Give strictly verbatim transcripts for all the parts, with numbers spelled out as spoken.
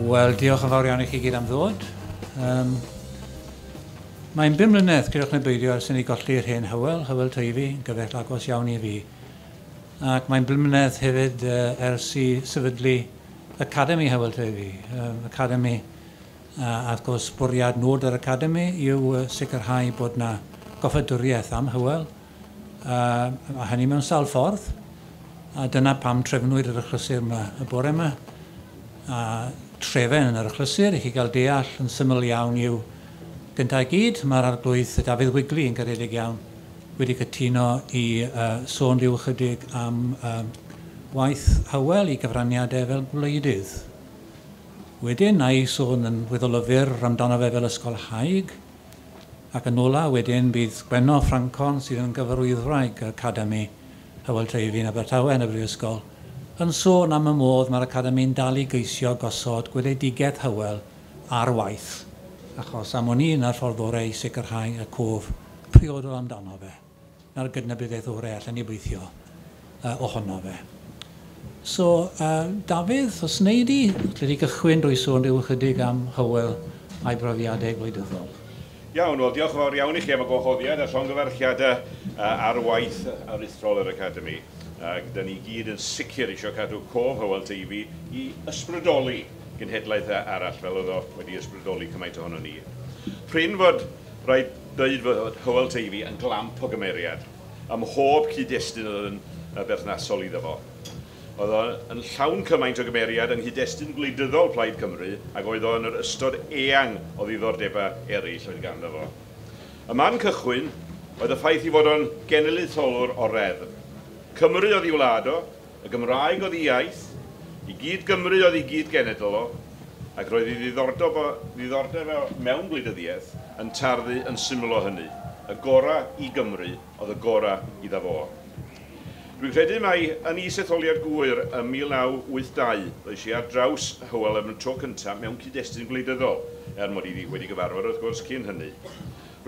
Wel, diolch yn fawr iawn i chi gyd am ddod. Um, mae'n bum mlynedd, credwch neu beidio, ers i ni golli'r hen Hywel, Hywel Teifi, gyfaill agos iawn i fi. Ac mae'n bum mlynedd hefyd uh, ers i sefydlu Academi Hywel Teifi. Um, Academi, uh, a wrth gwrs, bwriad nod yr Academi yw uh, sicrhau bod na goffadwriaeth am Hywel, uh, a hynny mewn sawl ffordd. A dyna pam trefnwyd yr achlysur yma y bore yma. A trefen yn yr achlysur i chi gael deall yn syml iawn yw gyntaf i gyd, mae'r arglwydd Dafydd Wigley yn garedig iawn wedi cytuno i uh, sôn rhyw ychydig am uh, waith Hywel i gyfraniadau fel gwleidydd. Wedyn, na i sôn yn weddol o fyr amdano fe fel ysgolhaig, ac yn ola wedyn bydd Gwenno Ffrancon sydd yn gyfarwyddwraig Academi Hywel Teifi yn Abertawe yn y Brifysgol, yn sôn am y modd mae'r Academi'n dal i geisio gosod gweledigaeth Hywel ar waith, achos am wn i na'r ffordd orau i sicrhau y cof priodol amdano fe, na'r gydnabyddiaeth orau allan ni weithio uh, ohono fe. So, uh, Dafydd, os wnei di, lle di gychwyn drwy sôn rhyw ychydig am Hywel a'i brofiadau gwleidyddol. Iawn, wel diolch yn fawr iawn i chi am y gwahoddiad a llongyfarchiadau uh, ar waith aruthrol yr Academi. Ac da ni gyd yn sicr eisiau cadw cof Hywel Teifi i ysbrydoli genhedlaeth arall fel oedd o wedi ysbrydoli cymaint ohono ni. Prin fod rhaid dweud fod Hywel Teifi yn glamp o gymeriad ym mhob cyd-destun oedd yn berthnasol iddo fo. Oedd o yn llawn cymaint o gymeriad yng nghyd-destun gwleidyddol Plaid Cymru ac oedd o yn yr ystod eang o ddiddordebau eraill oedd ganddo fo. Y man cychwyn oedd y ffaith i fod o'n genedlaetholwr o reddf. Cymru oedd ei wlad o, y Gymraeg oedd ei iaith, i gyd Gymru oedd ei gyd genedl o, ac roedd ei ddiddordeb, ddiddordeb mewn gwleidyddiaeth yn tarddu yn syml o hynny. Y gorau i Gymru oedd y gorau iddo fo. Dwi'n credu mai yn is-etholiad Gŵyr ym mil naw wyth dau ddois i ar draws Hywel am y tro cyntaf mewn cyd-destun gwleidyddol, er mod i wedi gyfarfod wrth gwrs cyn hynny.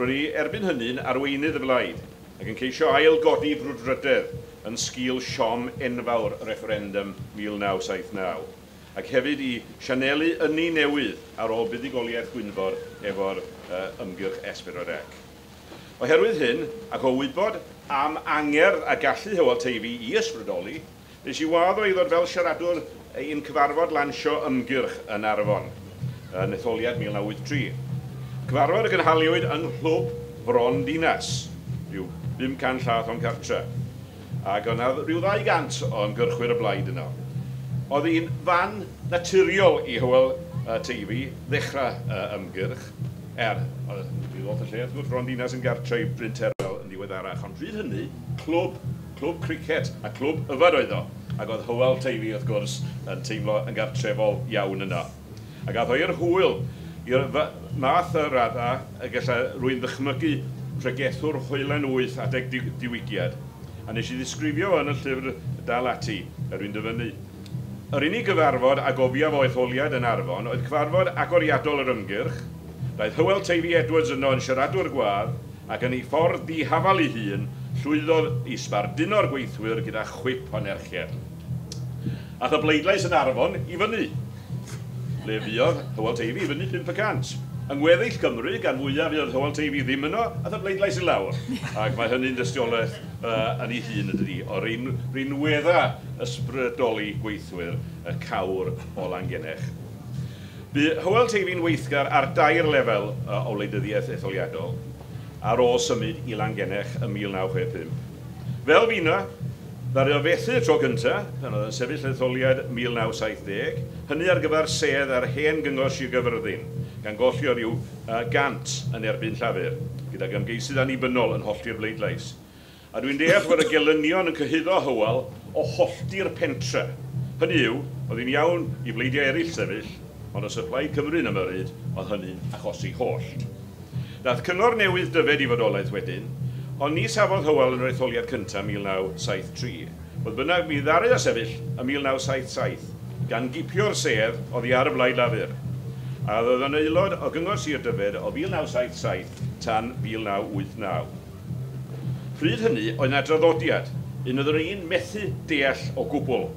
Ro'n i erbyn hynny'n arweinydd y blaid ac yn ceisio ail-godi brwdfrydedd yn sgil siom enfawr referendum mil naw saith naw, ac hefyd i sianelu ynni newydd ar ôl buddugoliaeth Gwynfor efo'r uh, ymgyrch S pedwar C. Oherwydd hyn, ac o wybod am angerdd a gallu Hywel Teifi i ysbrydoli, nes i wadd o i ddod fel siaradwr i'n cyfarfod lansio ymgyrch yn Arfon, yn etholiad mil naw wyth tri. Cyfarfod y gynhaliwyd yng Nghlwb Fron Dinas, rhyw bum can llath o'n cartre, ac o'na rhyw ddau gant o ymgyrchwyr y blaid yno. Oedd hi'n fan naturiol i Hywel uh, Teifi ddechrau uh, ymgyrch, er, oedd lot y lle, wrth gwrs, Fron Dinas yn gartre i Bryn Terfel yn ddiweddarach, ond pryd hynny, clwb, clwb cricet a clwb yfed oedd o, ac oedd Hywel Teifi, wrth gwrs, yn teimlo yn gartrefol iawn yno. Ac ath o i'r hwyl, i'r math y radda, y gallai rwy'n ddychmygu pregethwr hoelen wyth adeg diwygiad, a nes i ddisgrifio yn y llyfr Dal Ati, er rwy'n dyfynnu. Yr unig gyfarfod a gofiaf o etholiad yn Arfon oedd cyfarfod agoriadol yr ymgyrch. Daeth Hywel Teifi Edwards yno yn siaradwr gwadd ac yn ei ffordd dihafal ei hun llwyddodd i sbarduno'r gweithwyr gyda chwip o nerchiad. Ath y bleidlais yn Arfon i fyny. Le fuodd Hywel Teifi i fyny pump y cant. Yng ngweddill Cymru, gan fwyaf fuodd Hywel Teifi ddim yno, ath y bleidlais i lawr. Ac mae hynny'n dystiolaeth uh, yn ei hun ydy, o'r un rinwedda ysbrydoli gweithwyr y cawr o Langennech. Bu Hywel Teifi'n weithgar ar dair lefel uh, o wleidyddiaeth etholiadol ar ôl symud i Langennech ym mil naw chwe pump. Fel fina, ddaru o fethu y tro cyntaf, pan oedd yn sefyll etholiad mil naw saith deg, hynny ar gyfer sedd ar hen gyngor Sir Gaerfyrddin, gan golli o ryw uh, gant yn erbyn Llafur, gydag ymgeisydd annibynnol yn hollti'r bleidlais. A dwi'n deall fod y gelynion yn cyhuddo Hywel o hollti'r pentre. Hynny yw, oedd hi'n iawn i bleidiau eraill sefyll, ond os y Plaid Cymru'n ymyrryd, oedd hynny'n achosi hollt. Daeth cyngor newydd Dyfed i fodolaeth wedyn, ond ni safodd Hywel yn yr etholiad cyntaf mil naw saith tri. Fodd bynnag, mi ddaru o sefyll ym mil naw saith saith, gan gipio'r sedd oddi ar y Blaid Lafur. A oedd yn aelod o Gyngor Sir Dyfed o mil naw saith saith tan mil naw wyth naw. Pryd hynny oedd yna draddodiad, un oedd yr un methu deall o gwbl.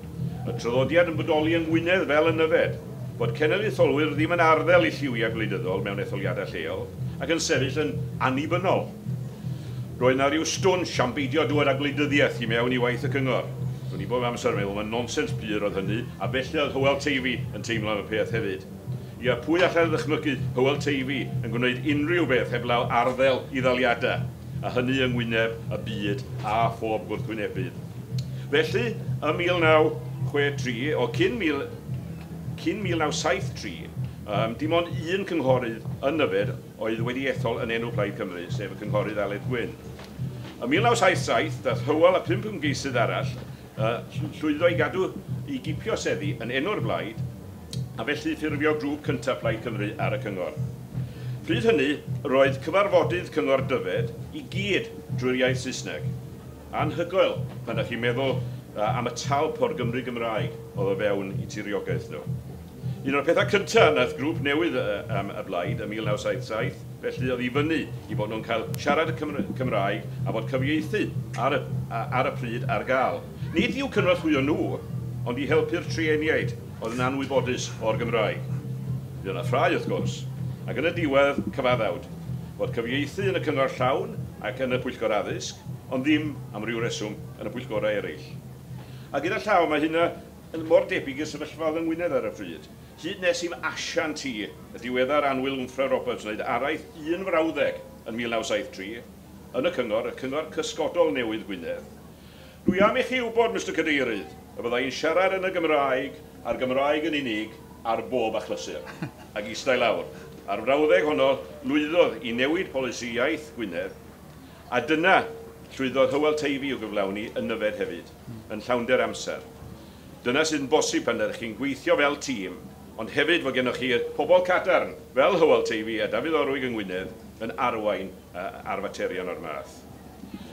Y traddodiad yn bodoli yng Ngwynedd fel yn Nyfed, bod cenedlaetholwyr ddim yn arddel i lliwiau gwleidyddol mewn etholiadau lleol ac yn sefyll yn annibynnol. Roedd 'na ryw stwnsh am beidio dŵad â gwleidyddiaeth i mewn i waith y cyngor. Ro'n i bob amser yn meddwl, mae'n nonsens pur oedd hynny, a felly oedd Hywel Teifi yn teimlo am y peth hefyd. Ia, pwy allai ddychmygu Hywel Teifi yn gwneud unrhyw beth heblaw arddel i ddaliadau, a hynny yng ngwyneb y byd a phob gwrthwynebydd. Felly, ym mil naw chwe tri, o cyn mil, cyn mil naw saith tri, um, dim ond un cynghorydd yn Nyfed oedd wedi ethol yn enw Plaid Cymru, sef y cynghorydd Aled Gwyn. Ym mil naw saith saith, daeth Hywel a pump ymgeisydd arall uh, llwyddo i gadw i gipio seddi yn enw'r blaid, a felly ffurfio grŵp cyntaf Plaid Cymru ar y cyngor. Pryd hynny, roedd cyfarfodydd Cyngor Dyfed i gyd drwy'r iaith Saesneg. Anhygoel pan ydych chi'n meddwl uh, am y talp o'r Gymru Gymraeg oedd o fewn i tiriogaeth nhw. Un o'r pethau cyntaf nath grŵp newydd um, y blaid ym mil naw saith saith, felly oedd i fyny i bod nhw'n cael siarad y Cymraeg a bod cyfieithu ar y, ar y pryd ar gael. Nid i'w cynorthwyo nhw, ond i helpu'r trueniaid oedd yn anwybodus o'r Gymraeg. Bydd yna ffrae, wrth gwrs, ac yn y diwedd cyfaddawd, bod cyfieithu yn y cyngor llawn ac yn y pwyllgor addysg, ond ddim am ryw reswm yn y pwyllgorau eraill. A gyda llaw mae hynna yn mor debyg i'r sefyllfa oedd yng Ngwynedd ar y pryd. Hyd nes i'm asiant i, y diweddar Anwyl Wmffra Roberts, wneud araith un frawddeg yn mil naw saith tri, yn y cyngor, y cyngor cysgodol newydd Gwynedd. Dwi am i chi wybod, Mister Cadeirydd, y byddai'n siarad yn y Gymraeg, a'r Gymraeg yn unig, ar bob achlysur, ac eistedd lawr. A'r frawddeg honno lwyddodd i newid polisi iaith Gwynedd, a dyna llwyddodd Hywel Teifi i'w gyflawni yn Nyfed hefyd, yn llawnder amser. Dyna sydd yn bosib pan ydych chi'n gweithio fel tîm, ond hefyd fod gennych chi pobl cadarn, fel Hywel Teifi a Dafydd Orwig yng Ngwynedd, yn arwain uh, ar faterion o'r math.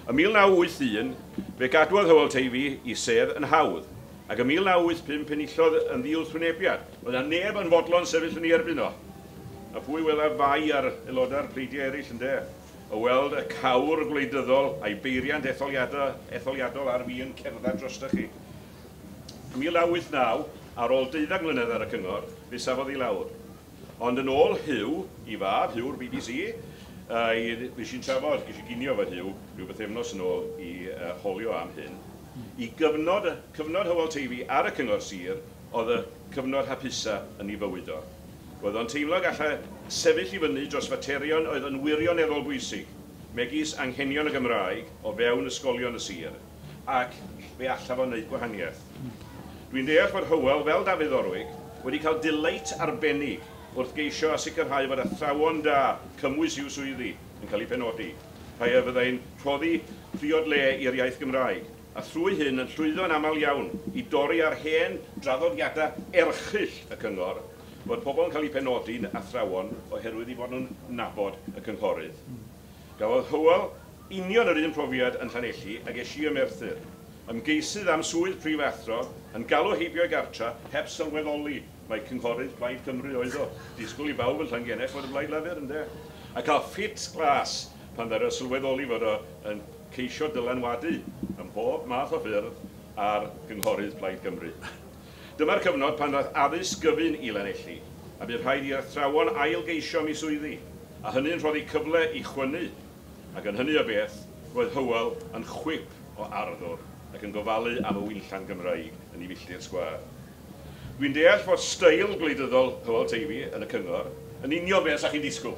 Ym mil naw wyth un, fe gadwodd Hywel Teifi i sedd yn hawdd, ac ym mil naw wyth pump enillodd yn ddiwrthwynebiad. Oedd 'na neb yn fodlon sefyll yn ei erbyn o. A pwy wela fai ar aelodau'r pleidiau eraill ynde? O weld y cawr gwleidyddol a'i beiriant etholiadol, etholiadol ar fin cerdded drostoch chi. Ym mil naw wyth naw, ar ôl deuddeg mlynedd ar y cyngor, fe safodd i lawr. Ond yn ôl Huw, i fab, Huw'r B B C, uh, nes i'n trafod, ges i ginio efo Huw, rhyw bythefnos yn ôl i uh, holio am hyn. I gyfnod, cyfnod Hywel Teifi ar y cyngor sir, oedd y cyfnod hapusa yn ei fywyd o. Roedd o'n teimlo gallai sefyll i fyny dros faterion oedd yn wirioneddol bwysig, megis anghenion y Gymraeg o fewn ysgolion y sir, ac fe allaf o wneud gwahaniaeth. Dwi'n deall fod Hywel, fel Dafydd Orwig, wedi cael delight arbennig wrth geisio a sicrhau fod athrawon da cymwys i'w swyddi yn cael eu penodi, rhai a fyddai'n rhoddi priod le i'r iaith Gymraeg, a thrwy hyn yn llwyddo'n aml iawn i dorri ar hen draddodiadau erchyll y cyngor, fod pobl yn cael eu penodi'n athrawon oherwydd eu bod nhw'n nabod y cynghorydd. Gafodd Hywel union yr un profiad yn Llanelli ag es i ym Merthyr. Ymgeisydd am swydd prifathro yn galw heibio i gartra heb sylweddoli mae cynghorydd Plaid Cymru oedd o. Disgwyl i bawb yn Llangennech fod y Blaid Lafur, ynde? A cael ffit glas pan ddaru sylweddoli fod o yn ceisio dylanwadu ym mhob math o ffyrdd ar gynghorydd Plaid Cymru. Dyma'r cyfnod pan ddaeth addysg gyfun i Lanelli, a bydd rhaid i'r athrawon ailgeisio am eu swyddi, a hynny'n rhoddi cyfle i chwynnu, ac yn hynny o beth, roedd Hywel yn chwip o arddwr ac yn gofalu am y winllan Gymraeg yn ei filltir sgwâr. Dwi'n deall fod steil gwleidyddol Hywel Teifi yn y cyngor yn union beth sa'ch chi'n disgwyl.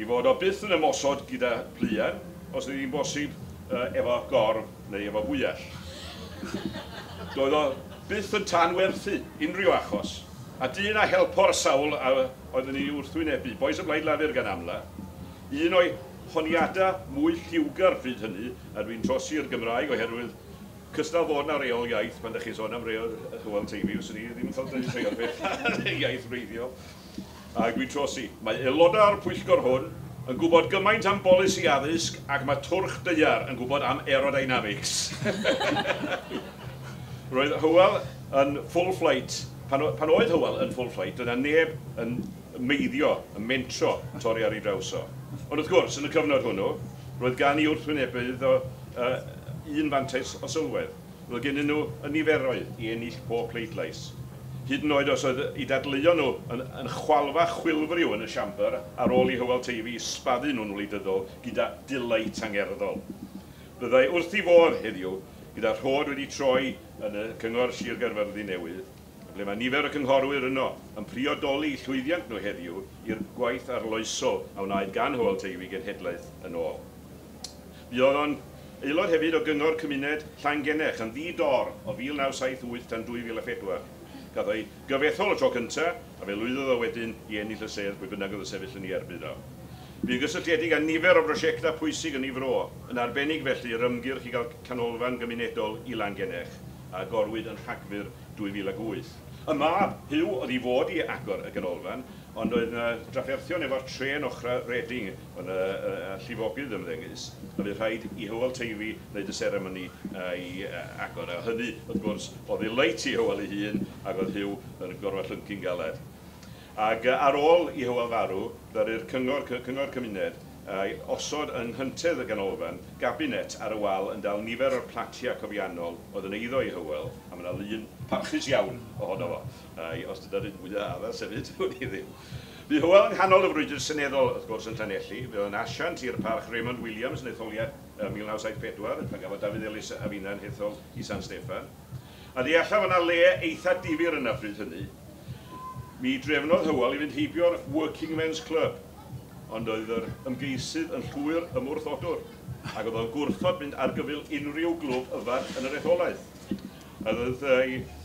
I fod o byth yn ymosod gyda pluan, os ydy hi'n bosib uh, efo gorf neu efo bwyell. Doedd o byth yn tanwerthu unrhyw achos, a dyn a helpo'r sawl a oedd yn ei wrthwynebu, bois y Blaid Lafur gan amla, un o'i honiadau mwy lliwgar pryd hynny, a dwi'n trosi'r Gymraeg oherwydd cystal fod na reol iaith pan ydych chi'n sôn am reol Hywel Teifi, fyswn i ddim yn cael dweud rhai o'r beth iaith wreiddiol. A dwi'n trosi, mae aelodau'r pwyllgor hwn yn gwybod gymaint am bolisi addysg ac mae twrch daear yn gwybod am aerodynamics. Roedd Hywel yn full flight, pan, pan oedd Hywel yn full flight, doedd 'na neb yn meiddio, yn mentro torri ar ei draws o. Ond wrth gwrs, yn y cyfnod hwnnw, roedd gan ei wrthwynebydd o uh, un fantais o sylwedd. Roedd gennyn nhw y niferoedd i ennill pob pleidlais. Hyd yn oed os oedd eu dadleuon nhw yn, yn chwalfa chwilfriw yn y siambr ar ôl i Hywel Teifi sbaddu nhw'n wleidyddol gyda delight angerddol. Byddai wrth ei fodd heddiw gyda rhod wedi troi yn y Cyngor Sir Gaerfyrddin newydd, ble mae nifer o cynghorwyr yno yn priodoli llwyddiant nhw heddiw i'r gwaith arloesol a wnaed gan Hywel Teifi genhedlaeth yn ôl. Buodd o'n aelod hefyd o Gyngor Cymuned Llangennech yn ddi-dor o mil naw saith wyth tan dwy fil a phedwar. Gath o'i gyfethol y tro cyntaf, a fe lwyddodd o wedyn i ennill y sedd pwy bynnag oedd yn sefyll yn ei erbyn o. Bu'n gysylltiedig â nifer o brosiectau pwysig yn ei fro, yn arbennig felly yr ymgyrch i gael canolfan gymunedol i Langennech, a agorwyd yn Rhagfyr dwy fil ag wyth. Y mab, Huw, oedd i fod i agor y ganolfan, ond oedd yna drafferthion efo'r trên ochra Reading yn y, y, y llifogydd ymddengys, a fydd rhaid i Hywel Teifi wneud y seremoni i agor. A hynny, wrth gwrs, oedd ddelight i Hywel ei hun, ac oedd Huw yn gorfod llyncu'n galed. Ac ar ôl i Hywel farw, ddaru'r cyngor, cyngor cymuned osod yng nghyntedd y ganolfan gabinet ar y wal yn dal nifer o'r platiau cofiannol oedd yn eiddo i Hywel, a mae yna lun parchus iawn ohono fo. Os dyna'r un mwyaf addas hefyd, wn i ddim. Bu Hywel yng nghanol y frwydr seneddol, wrth gwrs, yn Llanelli. Fe oedd yn asiant i'r parch Raymond Williams yn etholiad mil naw saith pedwar, pan gafodd Dafydd Elis a finna'n hethol i San Steffan. A deallaf yna le eitha difyr yna pryd hynny. Mi drefnodd Hywel i fynd heibio'r Working Men's Club, ond oedd yr ymgeisydd yn llwyr ymwrthodwr, ac oedd o'n gwrthod mynd ar gyfyl unrhyw glwb yfad yn yr etholaeth. A oedd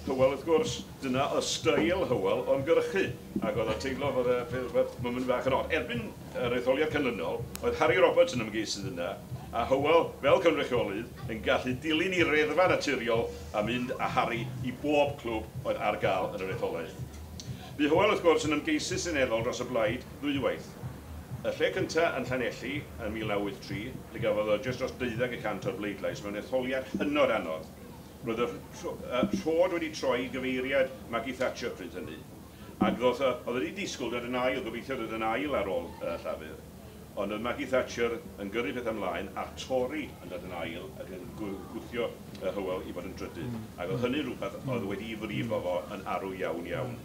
Hywel, wrth gwrs, dyna y steil Hywel o ymgyrchu, ac oedd o'n teimlo fod rhywbeth yn mynd bach yn od. Erbyn yr etholiad canlynol, oedd Harry Roberts yn ymgeisydd yna, a Hywel, fel cynrychiolydd, yn gallu dilyn ei reddfa naturiol a mynd â Harry i bob clwb oedd ar gael yn yr etholaeth. Bu Hywel, wrth gwrs, yn ymgeisydd seneddol dros y blaid ddwywaith. Y lle cyntaf yn Llanelli yn mil naw wyth tri, lle gafodd o jyst dros deuddeg y cant o'r bleidlais mewn etholiad hynod anodd. Roedd y rhod wedi troi i gyfeiriad Maggie Thatcher pryd hynny. Ac ddoth, oedd wedi disgwyl dod yn ail, gobeithio dod yn ail ar ôl uh, Llafur. Ond oedd Maggie Thatcher yn gyrru peth ymlaen a'r Tory yn dod yn ail ac yn gwthio Hywel i fod yn drydydd. Ac oedd hynny rhywbeth oedd wedi'i frifo fo yn arw iawn iawn.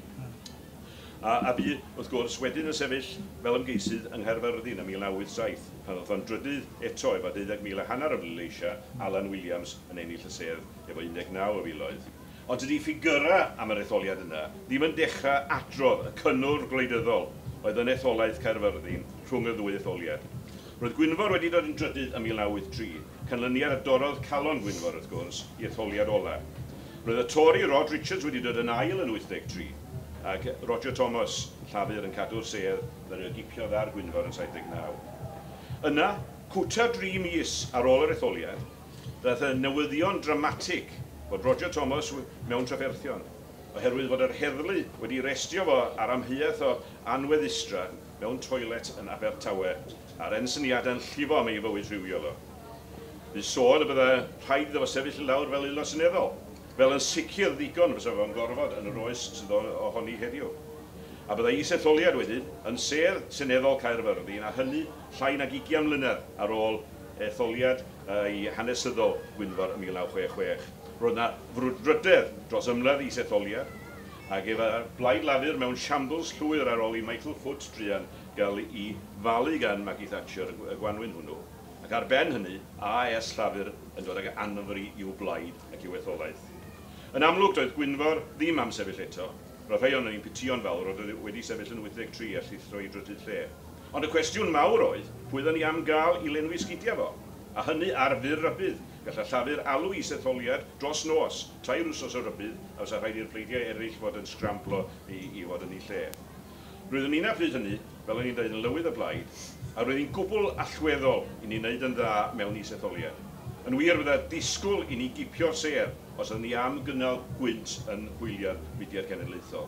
A, a bu, wrth gwrs, wedyn yn sefyll fel ymgeisydd yng Nghaerfyrddin ym mil naw wyth saith, pan oedd o'n drydydd eto efo deuddeg mil a hanner o bleidleisiau, Alan Williams yn ennill y sedd efo un deg naw o filoedd. Ond dydy ffigurau am yr etholiad yna ddim yn dechrau adrodd y cynnwr gwleidyddol oedd yn etholaeth Caerfyrddin rhwng y ddwy etholiad. Roedd Gwynfor wedi dod yn drydydd ym mil naw wyth tri, canlyniad a dorrodd calon Gwynfor, wrth gwrs, i etholiad ola. Roedd y Tory Rod Richards wedi dod yn ail yn wyth deg tri, ac Roger Thomas, Llafur, yn cadw'r sedd, ddaru gipiodd ar Gwynfor yn saith deg naw. Yna, cwta dri mis ar ôl yr etholiad, daeth y newyddion dramatig fod Roger Thomas mewn trafferthion, oherwydd fod yr heddlu wedi restio fo ar amheuaeth o anweddustra mewn toilet yn Abertawe, a'r ensyniadau'n llifo am ei fywyd rhywiol o. Bu sôn y bydde rhaid iddo fo sefyll i lawr fel aelod seneddol, fel yn sicr ddigon fysa fo'n gorfod yn yr oes sydd ohoni heddiw. A byddai is-etholiad wedyn yn sedd seneddol Caerfyrddin, a hynny llai nag ugain mlynedd ar ôl etholiad ei hanesyddol Gwynfor ym mil naw chwech chwech. Roedd yna frwdfrydedd dros ymladd is-etholiad, ac efo Blaid Lafur mewn shambles llwyr ar ôl i Michael Foot druan gael ei falu gan Maggie Thatcher y gwanwyn hwnnw. Ac ar ben hynny, A S Llafur yn dod ag anfri i'w blaid ac i'w etholaeth. Yn amlwg, doedd Gwynfor ddim am sefyll eto. Roedd rhai ohonon ni'n pitïo'n fawr oedd wedi sefyll yn wyth deg tri a llithro i drydydd lle. Ond y cwestiwn mawr oedd, pwy oedden ni am gael i lenwi sgidiau fo? A hynny ar fyr rybudd. Gallai Llafur alw is-etholiad dros nos, tair wsos o rybudd, a fysa rhaid i'r pleidiau eraill fod yn sgramblo i, i fod yn ei lle. Roeddwn ni'n pryd hynny, fel o'n i'n dweud, yn lywydd y blaid, a roedd hi'n gwbl allweddol i ni wneud yn dda mewn is-etholiad. Yn wir, bydda disgwyl i ni gipio'r sedd os oeddwn ni am gynnal gwynt yn hwyliau'r mudiad cenedlaethol.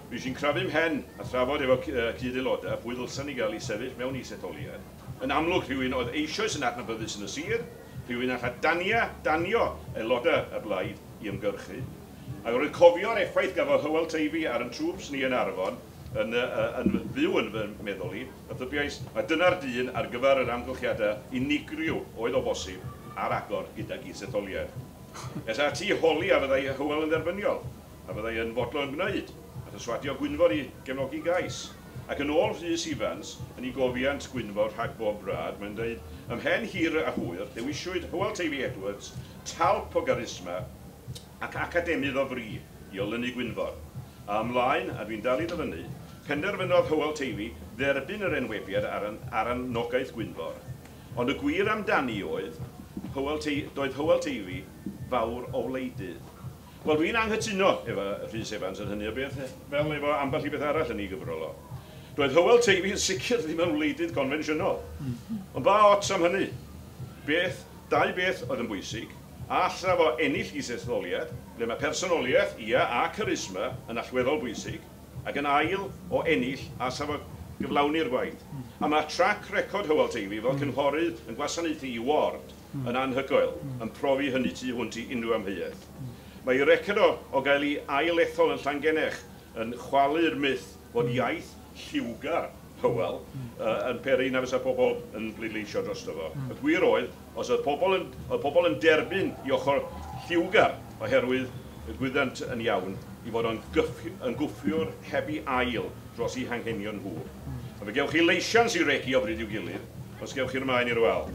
Fi eisiau'n crafu mhen a thrafod efo cyd-aelodau pwy ddylsan ni gael ei sefyll mewn is-etholiad. Yn amlwg, rhywun oedd eisoes yn adnabyddus yn y sir, rhywun alla dania, danio aelodau y blaid i ymgyrchu. Ac roedd cofio'r effaith gafodd Hywel Teifi ar yn trwps ni yn Arfon yn, yn, yn fyw yn fy meddwl i, a thybiais, a dyna'r dyn ar gyfer yr amgylchiadau unigryw oedd o bosib ar agor gydag is-etholiad. Es ati i holi a fyddai Hywel yn dderbyniol, a fyddai yn fodlon gwneud, a physwadio Gwynfor i gefnogi gais. Ac yn ôl Rhys Ifans, yn ei gofiant Gwynfor rhag bob brad, mae'n dweud, ymhen hir a hwyr, dewiswyd Hywel Teifi Edwards, talp o garisma ac academydd o fri i olynu Gwynfor. A ymlaen, a dwi'n dal i ddyfynnu, penderfynodd Hywel Teifi dderbyn yr enwebiad ar, ar anogaeth Gwynfor. Ond y gwir amdani oedd, Hywel Te doedd Hywel Teifi fawr o wleidydd. Wel, dwi'n anghytuno efo Rhys Evans yn hynny o beth, fel efo ambell i beth arall yn ei gyfrol o. Doedd Hywel Teifi yn sicr ddim yn wleidydd konfensiynol. Ond ba ots am hynny? Beth, dau beth oedd yn bwysig. A alla fo ennill isetholiad, ble mae personoliaeth, ia, a charisma yn allweddol bwysig, ac yn ail o ennill a sa fo gyflawni'r gwaith. A mae track record Hywel Teifi fel cynghorydd yn gwasanaethu i ward yn anhygoel, yn profi hynny tu hwnt i unrhyw amheuaeth. Mae ei record o, o gael ei ail-ethol yn Llangennech yn chwalu'r myth fod iaith lliwgar Hywel uh, yn peri na fysa pobl yn bleidleisio drosto fo. Y gwir oedd, os oedd pobl yn, oedd pobl yn derbyn i ochr lliwgar oherwydd y gwyddant yn iawn i fod o'n yn gwffiwr heb ei ail dros eu hanghenion nhw. A fe gewch chi leisians i regi o bryd i'w gilydd, os gewch chi'r maen i'r wal.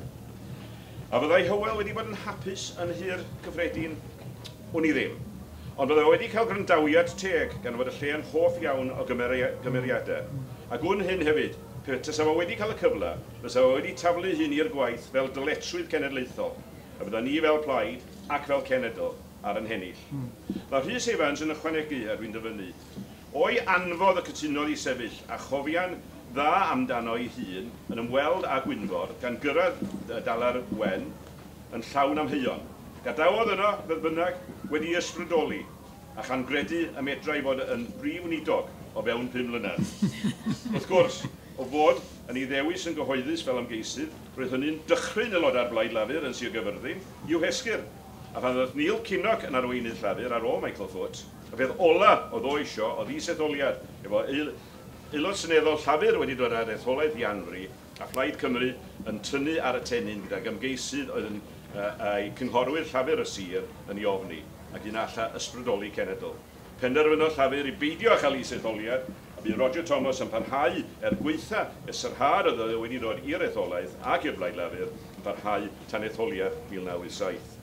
A fyddai Hywel wedi bod yn hapus yn Nhŷ'r Cyffredin? Wn i ddim. Ond byddai wedi cael gwrandawiad teg gan fod y lle yn hoff iawn o gymeriadau. A gwn hyn hefyd, pe tasa fo wedi cael y cyfle, fysa fo wedi taflu hyn i'r gwaith fel dyletswydd cenedlaethol, a bydda ni fel plaid ac fel cenedl ar yn hennill. Mm. Mae Rhys Evans yn ychwanegu, a dwi'n dyfynnu, o'i anfodd y cytunodd i sefyll a chofian dda amdano ei hun yn ymweld â Gwynfor gan gyrraedd Dalar Wen yn llawn amheuon. Gadawodd yno, fodd bynnag, wedi ysbrydoli a chan gredu y medrai fod yn brif weinidog o fewn pum mlynedd. Wrth gwrs, o fod yn ei ddewis yn gyhoeddus fel ymgeisydd, roedd hynny'n dychryn aelodau'r Blaid Lafur yn Sir Gyfyrddin i'w hesgyr. A pan ddoth Neil Kinnock yn arweinydd Llafur ar ôl Michael Foot, y peth ola oedd o isio oedd is-etholiad, efo aelod seneddol Llafur wedi dod ar etholaeth i anfri, a Phlaid Cymru yn tynnu ar y tennyn gydag ymgeisydd oedd yn uh, cynghorwyr Llafur y sir yn ei ofni, ac un alla ysbrydoli cenedl. Penderfynodd Llafur i beidio â chael is-etholiad, a bu Roger Thomas yn parhau er gweitha y sarhad oedd wedi dod i'r etholaeth ac i'r Blaid Lafur yn parhau tan etholiad mil naw wyth saith.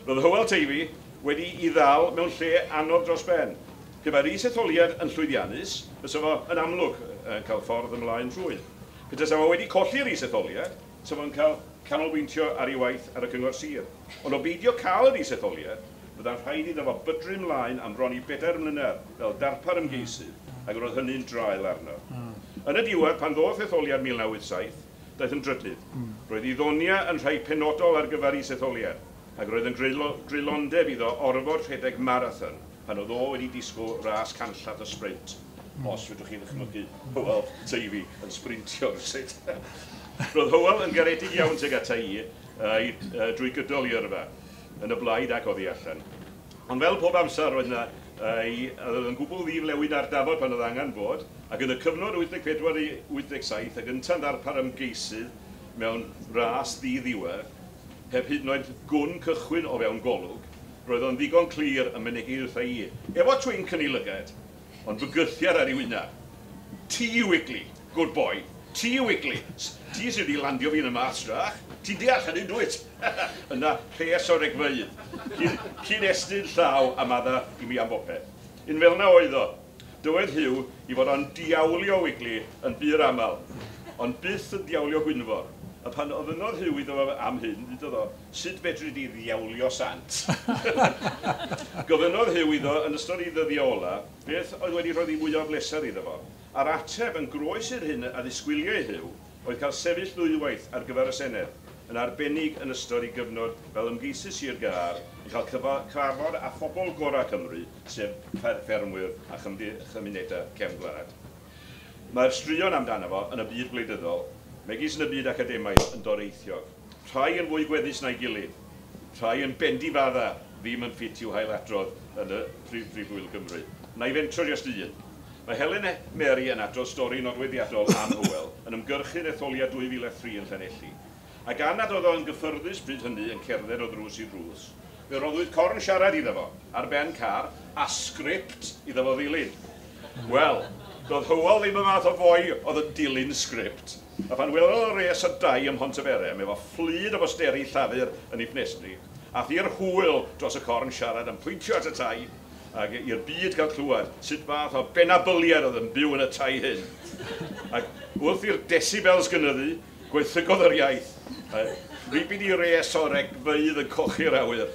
Roedd Hywel Teifi wedi ei ddal mewn lle anodd dros ben. Pe bai'r is-etholiad yn llwyddiannus, fysa fo yn amlwg yn cael ffordd ymlaen rhwydd. Pe tasa fo wedi colli'r is-etholiad, fysa fo'n cael canolbwyntio ar ei waith ar y cyngor sir. Ond o beidio cael yr is-etholiad, byddai'n rhaid iddo fo bydru ymlaen am bron i bedair mlynedd fel darpar ymgeisydd, ac roedd hynny'n draul arno. Mm. Yn y diwedd, pan ddoth etholiad mil naw wyth saith, daeth yn drydydd. Mm. Roedd ei ddonia yn rhai penodol ar gyfer is-etholiad, ac roedd yn greulondeb iddo orfod rhedeg marathon pan oedd o wedi disgwyl ras canllath y sprint. Mm. Os fedrwch chi ddychmygu Hywel Teifi yn sprintio rywsut. Roedd Hywel yn garedig iawn tuag ata i uh, uh, drwy gydol i yrfa, yn y blaid ac oddi allan. Ond fel pob amser roedd yna, uh, oedd yn gwbl ddiflewyn ar dafod pan oedd angen bod, ac yn y cyfnod wyth deg pedwar i wyth deg saith, ac ynta'n ddarpar ymgeisydd mewn ras ddi-ddiwedd, heb hyd yn oed gwn cychwyn o fewn golwg, roedd o'n ddigon clir yn mynegi wrtha i, efo twinc yn ei lygad, ond bygythiad ar ei wyneb. Ti Wigley, good boy, ti Wigley, ti sydd wedi landio fi yn y mastrach, ti'n deall hynny, dwyt? Yna rhes o regfeydd, cyn, cyn estyn llaw a madda i mi am bopeth. Un fel yna oedd o, dywed Huw i fod o'n diawlio Wigley yn bur aml, ond byth yn diawlio Gwynfor. A pan ofynnodd Huw iddo fo am hyn, ddudodd o, sut fedri di ddiawlio sant? Gofynnodd Huw iddo yn ystod ei ddyddiau ola, beth oedd wedi rhoi fwy o bleser iddo fo. A'r ateb yn groes i'r hyn a ddisgwyliai Huw oedd cael sefyll ddwywaith ar gyfer y Senedd, yn arbennig yn ystod ei gyfnod fel ymgeisydd Sir Gâr, yn cael cyfarfod â phobl gorau Cymru, sef ffermwyr a chymunedau cefn gwlad. Mae'r straeon amdano fo yn y byd gwleidyddol, megis yn y byd academaidd yn doreithiog. Rhai yn fwy gweddus na'i gilydd, rhai yn bendifadda ddim yn ffit i'w hailadrodd yn y Prif Brifwyl Gymru. Na i fentro jyst un. Mae Helen Mary yn adrodd stori nodweddiadol am Hywel yn ymgyrchu'n etholiad dwy fil a thri yn Llanelli. A gan nad oedd o'n gyffyrddus bryd hynny yn cerdded o ddrws i ddrws, Fe roddwyd corn siarad iddo fo ar ben car a sgript iddo fo ddilyn. Wel, doedd Hywel ddim y math o foi oedd yn dilyn sgript. A phan welodd o res o dai ym Mhontyberem efo fflyd o bosteri Llafur yn ei ffenestri, ath i'r hwyl dros y corn siarad yn pwyntio at y tai ac i'r byd gael clywed sut fath o benabyliad oedd yn byw yn y tai hyn. Ac wrth i'r decibels gynyddu, gwaethygodd yr iaith. Ribid i res o regfeydd yn cochi'r awyr.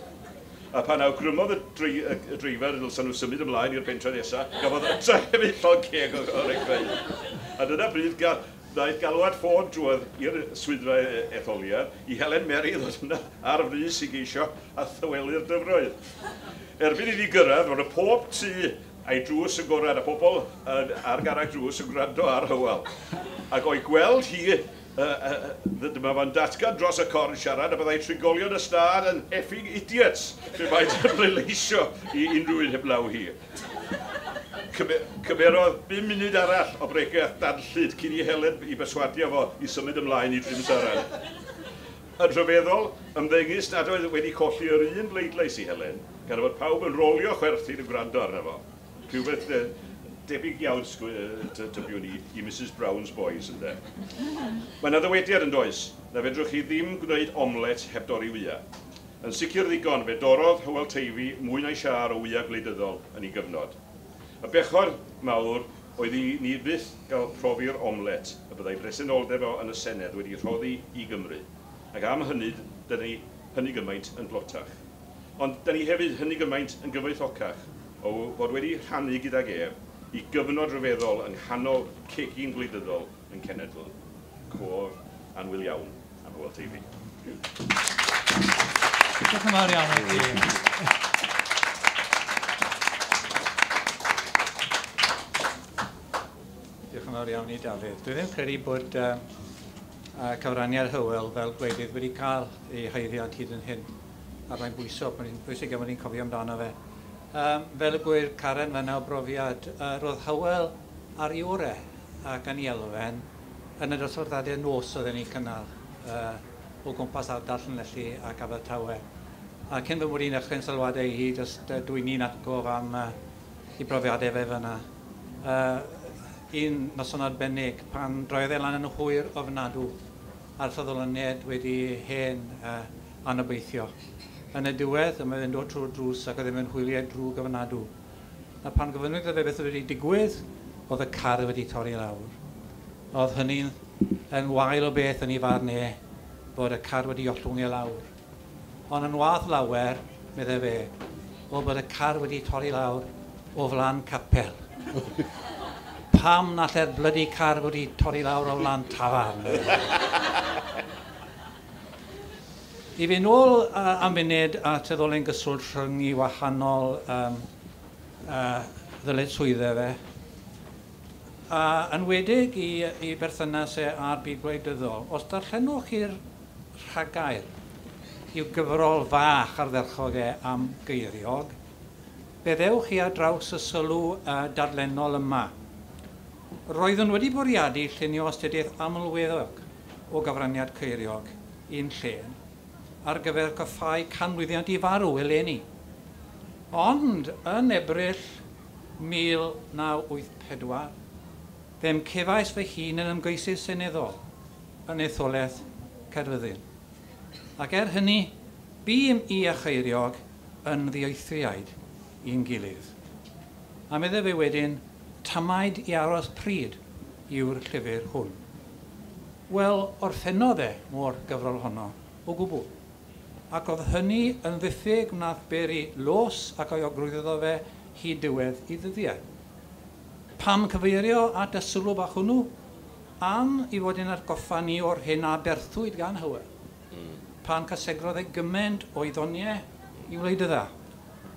A pan awgrymodd y, dri, y, y dreifer ddylsan nhw symud ymlaen i'r pentre nesaf, gafodd yta hefyd llond ceg o, o regfeydd. A dyna bryd gael, ddaeth galwad ffôn drwodd i'r swyddfa etholiad i Helen Mary ddod yna ar frys i geisio a thywelu'r dyfroedd. Erbyn iddi gyrraedd, roedd y pob tŷ a'i drws yn gorau, a pobl ar garreg drws yn gwrando ar Hywel. Ac o'i gweld hi, uh, uh, dyma fo'n datgan dros y corn siarad, a byddai trigolion y stad yn effing idiots pe baent yn pleidleisio i unrhyw un heblaw hi. Cymerodd bum munud arall o bregeth danllyd cyn i Helen i berswadio fo i symud ymlaen i Drimsaran. Yn rhyfeddol, ymddengys nad oedd wedi colli yr un bleidlais i Helen, gan fod pawb yn rolio chwerthin yn gwrando arno fo. Rhywbeth debyg iawn tybiwn i, i Mrs Brown's Boys, ynde. Mae yna ddywediad yn does, na fedrwch chi ddim gwneud omlet heb dorri wya. Yn sicr ddigon, fe dorrodd Hywel Teifi mwy na'i siâr o wya gwleidyddol yn ei gyfnod. Y bechod mawr oedd i ni fyth gael profi'r omlet y byddai presenoldeb o yn y Senedd wedi rhoddi i Gymru. Ac am hynny, dyna ni hynny gymaint yn blotach. Ond dyna ni hefyd hynny gymaint yn gyfoethocach o fod wedi rhannu gydag ef i gyfnod rhyfeddol yng nghanol cegin gwleidyddol yn cenedl. Cof annwyl iawn am Hywel Teifi. Diolch yn fawr iawn i ti. Diolch yn fawr iawn i Dafydd. Dwi ddim credu bod uh, cyfraniad Hywel fel gwleidydd wedi cael ei haeddiant hyd yn hyn. A mae'n bwyso, mae'n bwysig iawn bod ni'n cofio amdano fe. Um, fel y gwyr Karen fan'na o brofiad, uh, roedd Hywel ar ei orau ac yn ei elfen yn y dosbarthiadau nos oedden ni'n cynnal uh, o gwmpas ardal Llanelli ac Abertawe. A cyn fy mod i'n dechrau'n sylwadau hi, jyst uh, dwi'n ni'n atgof am uh, ei brofiadau fe fan'na. Uh, un noson arbennig pan droedd e lan yn hwyr ofnadw a'r ffyddloniaid wedi hen uh, anobeithio. Yn y diwedd, yma fe'n dod trwy'r drws ac oedd e'n hwyliau drwg ofnadw. A pan gofynnwyd iddo fe beth oedd wedi digwydd, oedd y car wedi torri lawr. Oedd hynny'n yn wael o beth yn ei farn e, bod y car wedi ollwng e lawr. Ond yn wath lawer, meddai fe, oedd bod y car wedi torri lawr o flan capel. Pam na lle'r blydi car wedi torri lawr o flan tafarn? I fynd nôl uh, am funud at y ddolen gyswllt rhwng i wahanol um, uh, ddyletswyddau fe, a enwedig i, i berthynas e â'r byd gwleidyddol, os darllenwch chi'r rhagair i'w gyfrol fach ardderchog e am Geiriog, fe ddewch chi ar draws y sylw uh, darllenol yma. Roeddwn wedi bwriadu llunio astudiaeth amlweddog o gyfraniad Ceiriog i'n llên ar gyfer coffáu canmlwyddiant i farw eleni. Ond yn Ebrill mil naw wyth pedwar, fe'm cefais fy hun yn ymgeisydd seneddol yn etholaeth Caerfyrddin. Ac er hynny, bûm i a Cheiriog yn ddieithriaid i'n gilydd. A meddai fe wedyn, tamaid i aros pryd yw'r llyfr hwn. Wel, orffennodd e mor gyfrol honno o gwbl. Ac oedd hynny yn ddiffyg wnaeth beri los ac euogrwydd iddo fe hyd diwedd i ddyddiau. Pam cyfeirio at y sylw bach hwnnw? Am i fod yn atgoffa ni o'r hyn a berthwyd gan Hywel. Mm. Pan cysegrodd e gymaint o'i ddoniau i wleidydda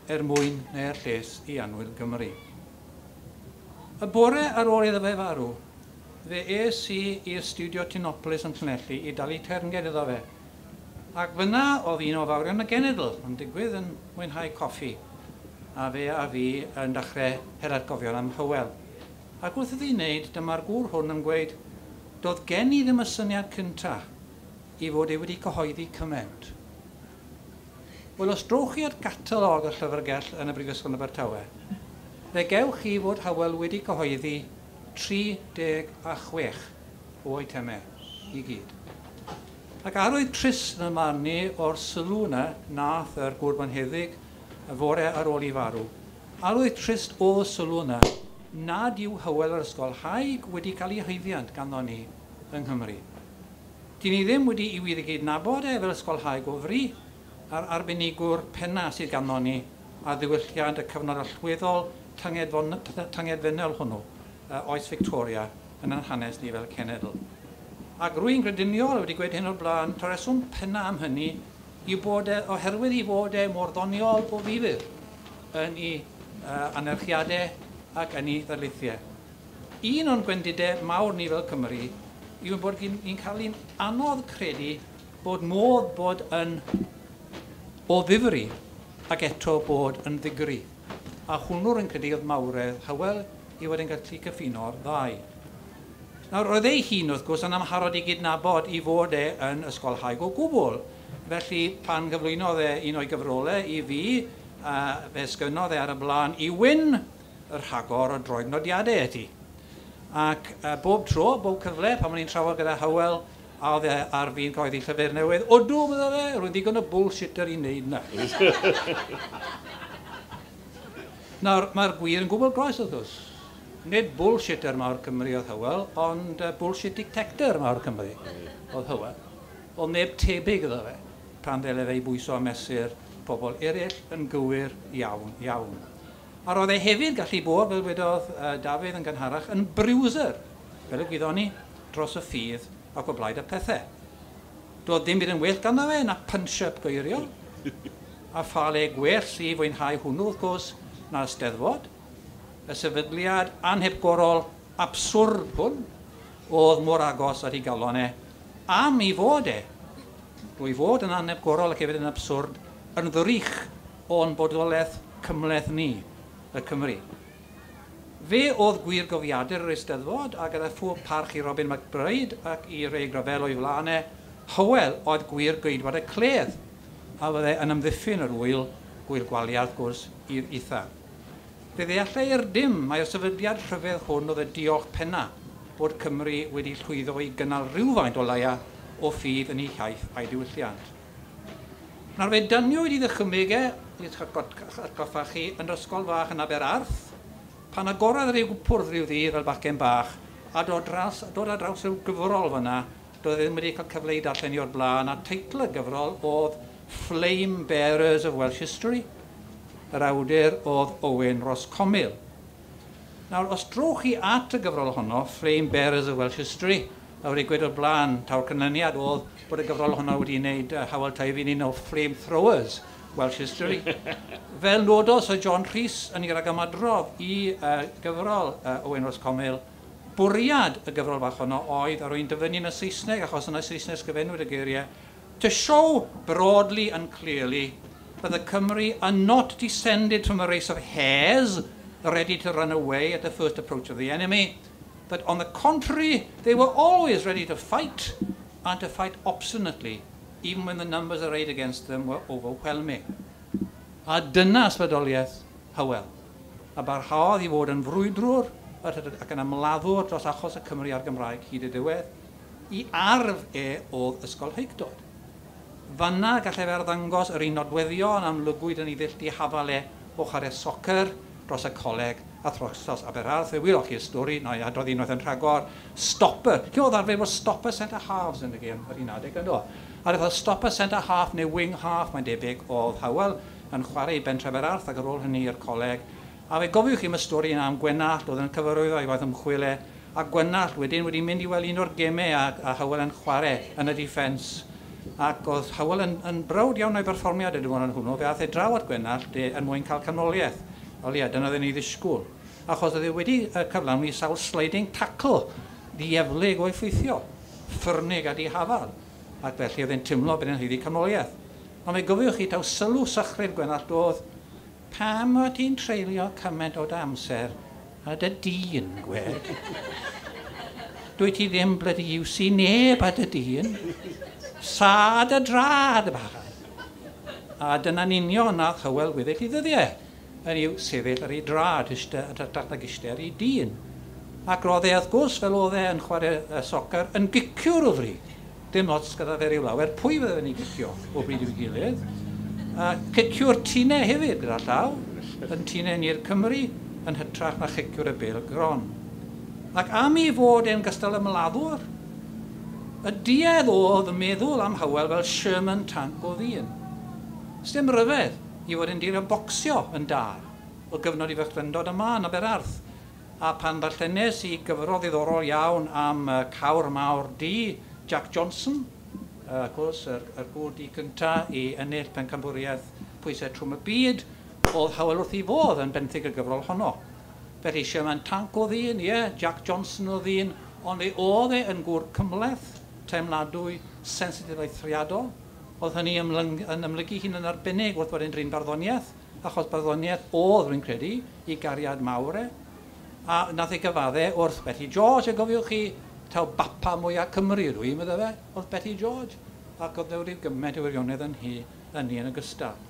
er mwyn neu'r lles i annwyl Gymru. Y bore ar ôl iddo fe farw, fe es i i'r stiwdio Tinopolis yn Llanelli i dalu teyrnged iddo fe. Ac fyna oedd un o fawrion y genedl yn digwydd yn mwynhau coffi, a fe a fi yn dechrau her atgofion am Hywel. Ac wrth iddi wneud, dyma'r gŵr hwn yn gweud, doedd gen i ddim y syniad cyntaf i fod e wedi cyhoeddi cymaint. Wel, os drowch chi at gatalog y llyfrgell yn y Brifysgol Abertawe, fe gewch chi fod Hywel wedi cyhoeddi tri deg a chwech o eitemau i gyd. Ac arwydd trist yn y marn ni o'r sylw yna nath yr gŵr bonheddig y fore ar ôl i farw. Arwydd trist o'r sylw yna nad yw Hywel yr ysgolhaig wedi cael ei haeddiant ganddo ni yng Nghymru. Dyn ni ddim wedi i wir i gydnabod e fel ysgolhaig o fri, a'r arbenigwr penna sydd ganddo ni a ddiwylliant y cyfnod allweddol tyngedfennol hwnnw, oes Victoria, yn ein hanes ni fel cenedl. Ac rwy'n grediniol wedi gweud hyn o'r blaen, ta'r reswm penna am hynny yw bod e, oherwydd i fod e mor ddoniol o ddifyr yn ei uh, anerchiadau ac yn ei ddarlithiau. Un o'n gwendidau mawr ni fel Cymru yw bod ni'n cael ein anodd credu bod modd bod yn o ddifri ac eto bod yn ddigri. A hwnnw'r yn credu oedd mawredd Hywel i fod yn gallu cyffino'r ddau. Nawr, roedd ei hun, wrth gwrs, yn amharod i gydnabod i fod e yn ysgolhaig o gwbl. Felly, pan gyflwynodd e un o'i gyfrolau i fi, uh, fe sgynnodd e ar y blaen i wyn y rhagor o droednodiadau eti. Ac uh, bob tro, bob cyfle, pan o'n i'n trafod gyda Hywel, a oedd e ar fi'n cyhoeddi llyfr newydd, odw, meddai fe, rwy'n ddigon o bullshitter i wneud na. Nawr, mae'r gwir yn gwbl groes, wrth gwrs. Nid bullshitter mawr Cymru oedd Hywel, ond uh, bullshit detector mawr Cymru oedd Hywel. Oedd neb tebyg iddo fe, pan ddele fe i bwyso a mesur pobl eraill yn gywir iawn, iawn. A roedd e hefyd gallu bod, fel wedodd uh, Dafydd yn gynharach, yn bruiser, fel y gwyddon ni, dros y ffydd ac o blaid y pethau. Doedd ddim byd yn well ganddo fe na punch-up geiriol, a pha le gwell i fwynhau hwnnw, wrth gwrs, na'r Steddfod. Y sefydliad anhepgorol abswrd hwn oedd mor agos at ei galon e, am ei fod e, drwy fod yn anhepgorol ac hefyd yn abswrd, yn ddrych o'n bodolaeth cymhleth ni, y Cymru. Fe oedd gwir gofiadur yr Eisteddfod, a gyda phob parch i Robin McBride ac i Ray Gravell o'i flaen e, Hywel oedd gwir geidwad y cledd, a fydde yn ymddiffyn yr wyl, gwyl Gwalia, wrth gwrs, i'r eitha. Fe ddeallai'r dim mai'r sefydliad rhyfedd hwn oedd y diolch penna bod Cymru wedi llwyddo i gynnal rhywfaint o leia o ffydd yn ei hiaith a'i diwylliant. Nawr fe dyniwyd i ddychymyg e, i'ch atgoffa chi, yn yr ysgol fach yn Aberarth, pan agorodd rhyw gwpwrdd rhyw ddydd fel bachgen bach, a dod, dras, dod ar draws rhyw gyfrol fyna, doedd ddim wedi cael cyfle i darllen i o'r blaen, a teitl y gyfrol oedd Flame Bearers of Welsh History. Yr awdur oedd Owen Ross Comil. Nawr, os drowch chi at y gyfrol honno, Flame Bearers of Welsh History, a wedi gweud o'r blaen, taw'r canlyniad oedd bod y gyfrol honno wedi wneud uh, Hywel Teifi'n un o Flame Throwers Welsh History. Fel nododd Sir John Rhys yn ei ragymadrodd i uh, gyfrol uh, Owen Ross Comil, bwriad y gyfrol fach honno oedd, a rwy'n dyfynnu yn y Saesneg, achos yn y Saesneg sgrifennwyd y geiriau, to show broadly and clearly that the Cymry are not descended from a race of hares ready to run away at the first approach of the enemy, but on the contrary, they were always ready to fight, and to fight obstinately, even when the numbers arrayed against them were overwhelming. A dyna ysbrydoliaeth Hywel, a barhaodd i fod yn frwydrwr ac yn ymladdwr dros achos y Cymru a'r Gymraeg hyd y diwedd, i arf e oedd ysgolheictod. Fanna gallai fe arddangos yr un nodweddion amlygwyd yn ei ddull dihafal e o chwarae soccer dros y coleg a thros Aberarth. Fe wyloch chi'r stori, na i adrodd unwaith yn rhagor, stopper. Lle oedd arfer bod stopper centre halves yn y gêm yr un adeg ynddo. A roedd stopper centre half neu wing half, mae'n debyg, oedd Hywel yn chwarae i bentref Aberarth ac ar ôl hynny i'r coleg. A fe gofiwch chi am y stori yna am Gwenallt, oedd yn cyfarwyddo i waith ymchwil e, a Gwenallt wedyn wedi mynd i weld un o'r gemau a, a Hywel yn chwarae yn y defence. Ac oedd Hywel yn, yn browd iawn o'i berfformiad y diwrnod hwnnw, fe aeth e draw at Gwenallt er mwyn cael canmoliaeth. O leia, dyna oedd e'n ei ddisgwyl. Achos oedd e wedi cyflawni sawl sliding tackle ddieflig o effeithiol, ffyrnig a dihafal. Ac felly oedd e'n teimlo bod e'n haeddu canmoliaeth. Ond fe gofiwch chi taw sylw sychryd Gwenallt oedd, pam o ti'n treulio cymaint o dy amser a dy dyn, gwed? Dwi ti ddim bloody iwsi neb a dy dyn. Sa dy drad, bachan. A dyna'n union nath Hywel weddill i ddyddiau, yn i'w sefyll ar ei drad, yn hytrach nag eistedd ar ei dyn. Ac roedd e, wrth gwrs, fel oedd e yn chwarae soccer, yn giciwr o fri. Dim ots gyda fe ryw lawer, pwy fydde fe'n ei gicio o bryd i'w gilydd. A ciciwr tinau hefyd gyda llaw, yn tinau ni'r Cymru, yn hytrach na chiciwr y bêl gron. Ac am ei fod e'n gystal ymladdwr, y duedd oedd y meddwl am Hywel fel Sherman Tank o ddyn. Sdim ryfedd i fod yn dilyn bocsio yn dar o gyfnod i fechrydod yma yn Aberarth. A pan ddarllenes i gyfrol ddiddorol iawn am uh, cawr mawr du Jack Johnson, uh, gwrs, yr, yr gŵr du cyntaf i ennill pencampwriaeth pwysau trwm y byd, oedd Hywel wrth ei fodd yn benthyg y gyfrol honno. Felly Sherman Tank o ddyn, ie, yeah, Jack Johnson o ddyn, ond fe oedd e yn gŵr cymhleth, teimladwy, sensitif eithriadol. Oedd hynny yn ymlygu hun yn arbennig wrth fod yn drin barddoniaeth, achos barddoniaeth oedd, rwy'n credu, i gariad mawr e. A nath ei gyfadde wrth Betty George, a gofiwch chi, taw bapa mwyaf Cymru ydw i, meddai fe, oedd Betty George, ac oedd rhyw gymaint o wirionedd yn hi, yn hi yn ogystal.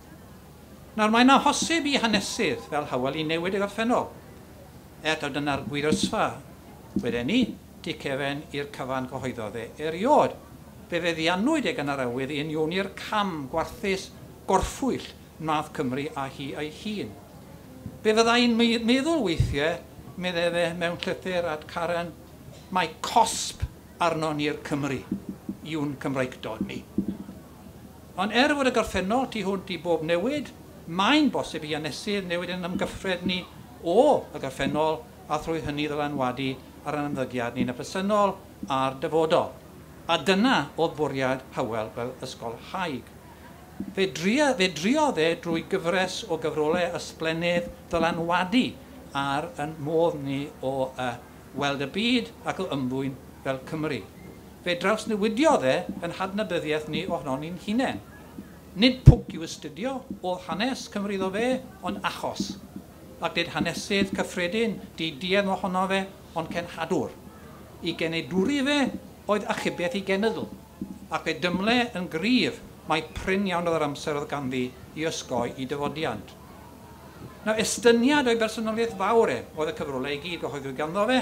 Nawr, mae'n amhosib i hanesydd fel Hywel i newid y gorffennol. Er taw dyna'r gwir ysfa, wedyn ni, tu cefen i'r cyfan gyhoeddodd e erioed. Fe feddiannwyd e gan yr awydd i unioni'r cam gwarthus gorffwyll wnaeth Cymru a hi ei hun. Fe fyddai'n meddwl weithiau, meddai fe mewn llythyr at Karen, mae cosb arno ni'r Cymru, yw'n Cymreictod ni. Ond er fod y gorffennol tu hwnt i bob newid, mae'n bosib i hanesydd newid yn ymgyffred ni o y gorffennol a thrwy hynny ddylanwadu ar ein ymddygiad ni'n y presennol a'r dyfodol. A dyna oedd bwriad Hywel fel ysgolhaig. Fe, dria, fe driodd e drwy gyfres o gyfrolau ysblennydd ddylanwadu ar yn modd ni o uh, weld y byd ac o ymddwyn fel Cymru. Fe drawsnewidiodd e yn hadnabyddiaeth ni ohonon ni'n hunain. Nid pwnc i'w astudio oedd hanes Cymru iddo fe, ond achos. Ac nid hanesydd cyffredin, diduedd ohono fe, ond cenhadwr. I genedwri fe oedd achubiaeth i genedl, ac fe dymle yn gryf mae prin iawn oedd yr amser oedd ganddi i osgoi i dyfodiant. Nawr, estyniad o'i bersonoliaeth fawr e oedd y cyfrolau i gyd gyhoeddwyd ganddo fe,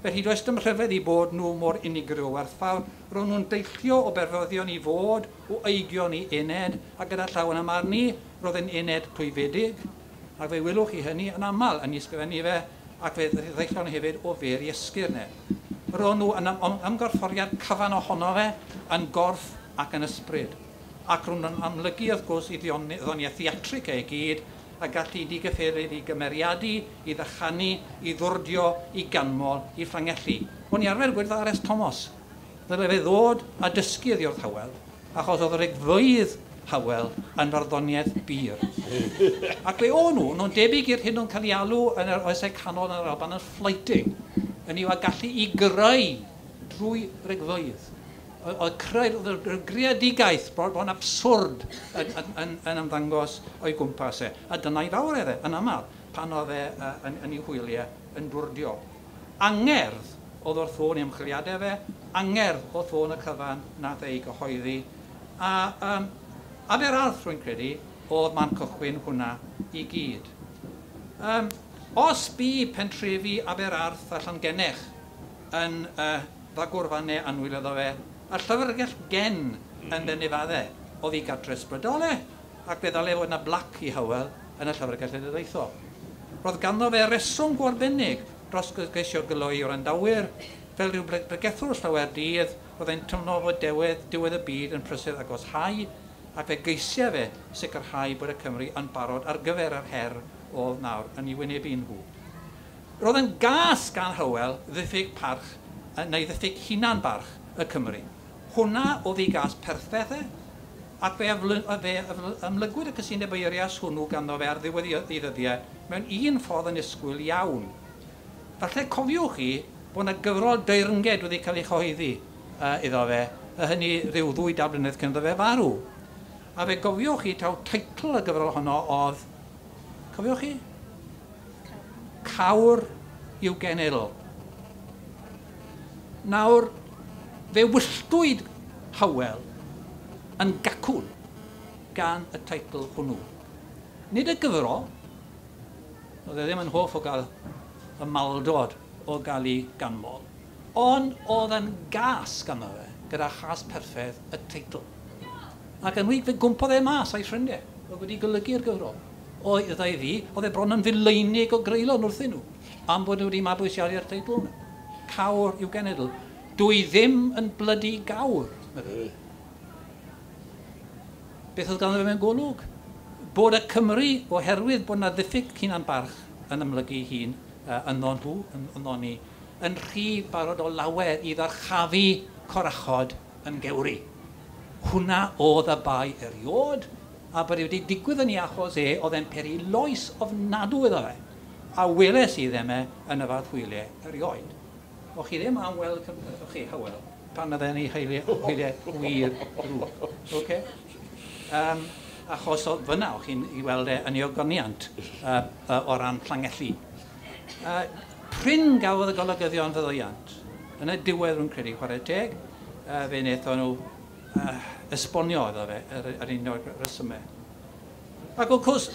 felly does dim rhyfedd i bod nhw mor unigryw o werthfawr, ro'n nhw'n deillio o berfyddion i fod, o eigion i ened, a gyda llaw yn ymar ni, roedd yn ened clwyfedig, ac fe wylwch chi hynny yn aml yn ei ysgrifennu fe, ac fe ddeillon hefyd o fer i esgyrn e. Ro'n nhw yn ymgorfforiad cyfan ohono fe, yn gorff ac yn ysbryd. Ac ro'n nhw'n amlygu, wrth gwrs, i ddoniaeth theatrig e i gyd, a gallu digyfferydd i gymeriadu, i ddychanu, i ddwrdio, i ganmol, i fflangellu. O'n i arfer gweud R S Thomas, ddyle fe ddod a dysgu iddi wrth Hywel, achos oedd yr egfeydd Hywel yn farddoniaeth bur. Ac fe o'n nhw, nhw'n debyg i'r hyn o'n cael ei alw yn yr oesau canol yn yr Alban yn flighting, yn i'w a gallu i greu drwy regfeydd. Oedd creu, oedd y greadigaeth bron abswrd yn, yn, yn, yn ymddangos o'i gwmpas e. A dyna'i fawr e, yn aml, pan oedd e yn, yn ei hwyliau yn dwrdio. Angerdd oedd wrth ffôn i ymchwiliadau fe, angerdd oedd ffôn y cyfan nath ei gyhoeddi. A um, Aberarth, rwy'n credu, oedd man cychwyn hwnna i gyd. Um, os bu pentrefi Aberarth a Llangennech yn uh, ddagwrfannau annwyl iddo fe, a llyfrgell gen yn Benefaddau oedd ei gartre ysbrydol e, ac fe ddylai fod yna blac i Hywel yn y llyfrgell genedlaethol. Roedd ganddo fe reswm go arbennig dros geisio gyloi o'r wrandawyr, fel rhyw bregethwr llawer dydd, roedd e'n teimlo fod diwedd, diwedd y byd yn prysur agoshau, ac fe geisiau fe sicrhau bod y Cymru yn barod ar gyfer yr her oedd nawr yn ei wynebu nhw. Roedd yn gas gan Hywel ddiffyg parch, neu ddiffyg hunan-barch y Cymru. Hwna oedd ei gas perffaith e, ac fe, fe ymlygwyd y cysyniad eirias hwnnw ganddo fe ar ddiwedd ei ddyddiau mewn un ffordd yn isgwyl iawn. Falle cofiwch chi bod yna gyfrol deyrnged wedi cael ei chyhoeddi uh, iddo fe, a hynny rhyw ddwy dair blynedd cyn iddo fe farw. A fe gofiwch chi taw teitl y gyfrol honno oedd, cofiwch chi? Cawr i'w genedl. Nawr, fe wylltwyd Hywel yn gacwn gan y teitl hwnnw. Nid y gyfrol, oedd e ddim yn hoff o gael y maldod o gael ei ganmol, ond oedd yn gas ganddo fe, gyda chas perffaith y teitl. Ac yn wir, fe gwmpodd e mas a'i ffrindiau, oedd wedi golygu'r gyfrol. Oedd ei fi, oedd e bron yn fileinig o greulon wrthyn nhw, am bod nhw wedi mabwysiadu'r teitl yna. Cawr i'w genedl. Dwi ddim yn blydi gawr, meddai. Beth oedd ganddo fe mewn golwg? Bod y Cymry, oherwydd bod yna ddiffyg hunan barch yn ymlygu hun uh, ynddo nhw, ynddo ni, yn rhy barod o lawer i ddyrchafu corachod yn gewri. Hwna oedd y bai eriod, a bod e wedi digwydd yn ei achos e, oedd e'n peri loes ofnadwy iddo fe. A weles i ddim e yn y fath hwyliau erioed. O'ch chi ddim am weld, o'ch chi, Hywel, pan oedd e'n ei hwyliau, hwyliau wir drwg. Okay? Um, achos o fyna o'ch chi'n ei weld e yn ei ogoniant uh, uh, o ran Llanelli. Uh, prin gafodd y golygyddion faddeuant. Yn y diwedd rwy'n credu, chwarae teg, uh, fe wnaethon nhw uh, esbonio iddo fe yr, yr un o'r resymau. Ac wrth gwrs,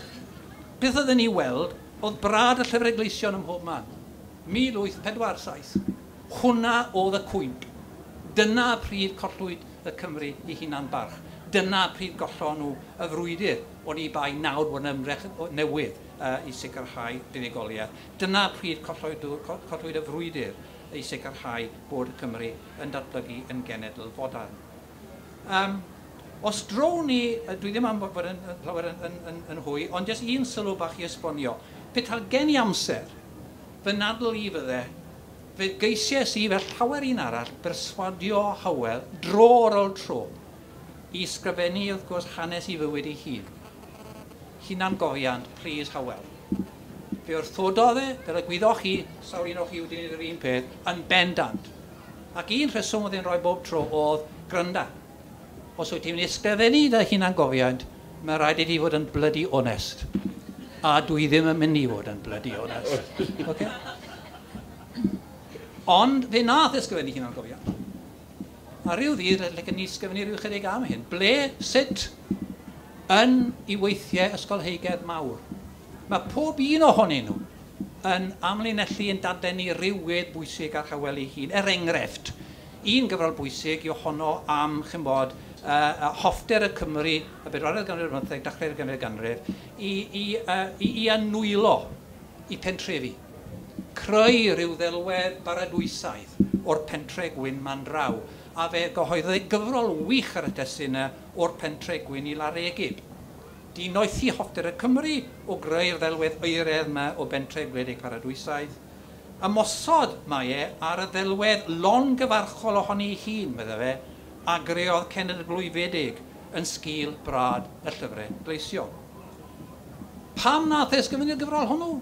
beth oedden ni weld, oedd brad y llyfrau gleision ym mhob man. mil wyth pedwar saith. Hwna oedd y cwymp. Dyna pryd collwyd y Cymru i hunan barch. Dyna pryd gollon nhw y frwydr o'n i bai nawr bod yn ymdrech newydd uh, i sicrhau buddugoliaeth. Dyna pryd collwyd, collwyd y frwydr i sicrhau bod Cymru yn datblygu yn genedl fodern. Um, os drown ni, dwi ddim am fod yn, llawer yn, yn, yn, yn hwy, ond jyst un sylw bach i esbonio. Petai gen i amser, fy nadl i fydde, fe geisiais i fel llawer un arall berswadio Hywel dro ar ôl tro i sgrifennu wrth gwrs hanes i fywyd ei hun. Hunangofiant, please Hywel. Fe wrthododd e, fel y gwyddoch chi, sawl un o'ch chi wedi gwneud yr un peth, yn bendant. Ac un rheswm oedd e'n rhoi bob tro oedd grynda. Os wyt ti'n mynd i ysgrifennu dy hunangofiant, mae rhaid i ti fod yn bloody honest. A dwi ddim yn mynd i fod yn bloody honest. Okay? Ond fe nath ysgrifennu hunangofiant. A rhyw ddydd, licen ni ysgrifennu rhyw chydig am hyn. Ble, sut, yn ei weithiau ysgolheigedd mawr. Mae pob un ohonyn nhw yn amlinellu yn dadlennu rhyw wedd bwysig ar Hywel ei hun. Er enghraifft, un gyfrol bwysig yw honno am, ch'mbod, uh, hoffter y Cymry, y bedwaredd ganrif ar bymtheg, dechrau'r ganrif ganrif, i, i, uh, i, i anwylo i pentrefi. Creu rhyw ddelwedd baradwysaidd o'r pentre gwyn man draw, a fe gyhoeddodd ei gyfrol wych ar y testun o'r pentre gwyn i Laregib. Dinoethi hoffter y Cymry o greu'r ddelwedd oeredd yma o bentre gwledig paradwysaidd. Ymosod mae e ar y ddelwedd longyfarchol ohoni ei hun, meddai fe, a greodd cenedl blwyfedig yn sgil brad y llyfrau gleision. Pam nath e ysgrifennu'r gyfrol hwnnw?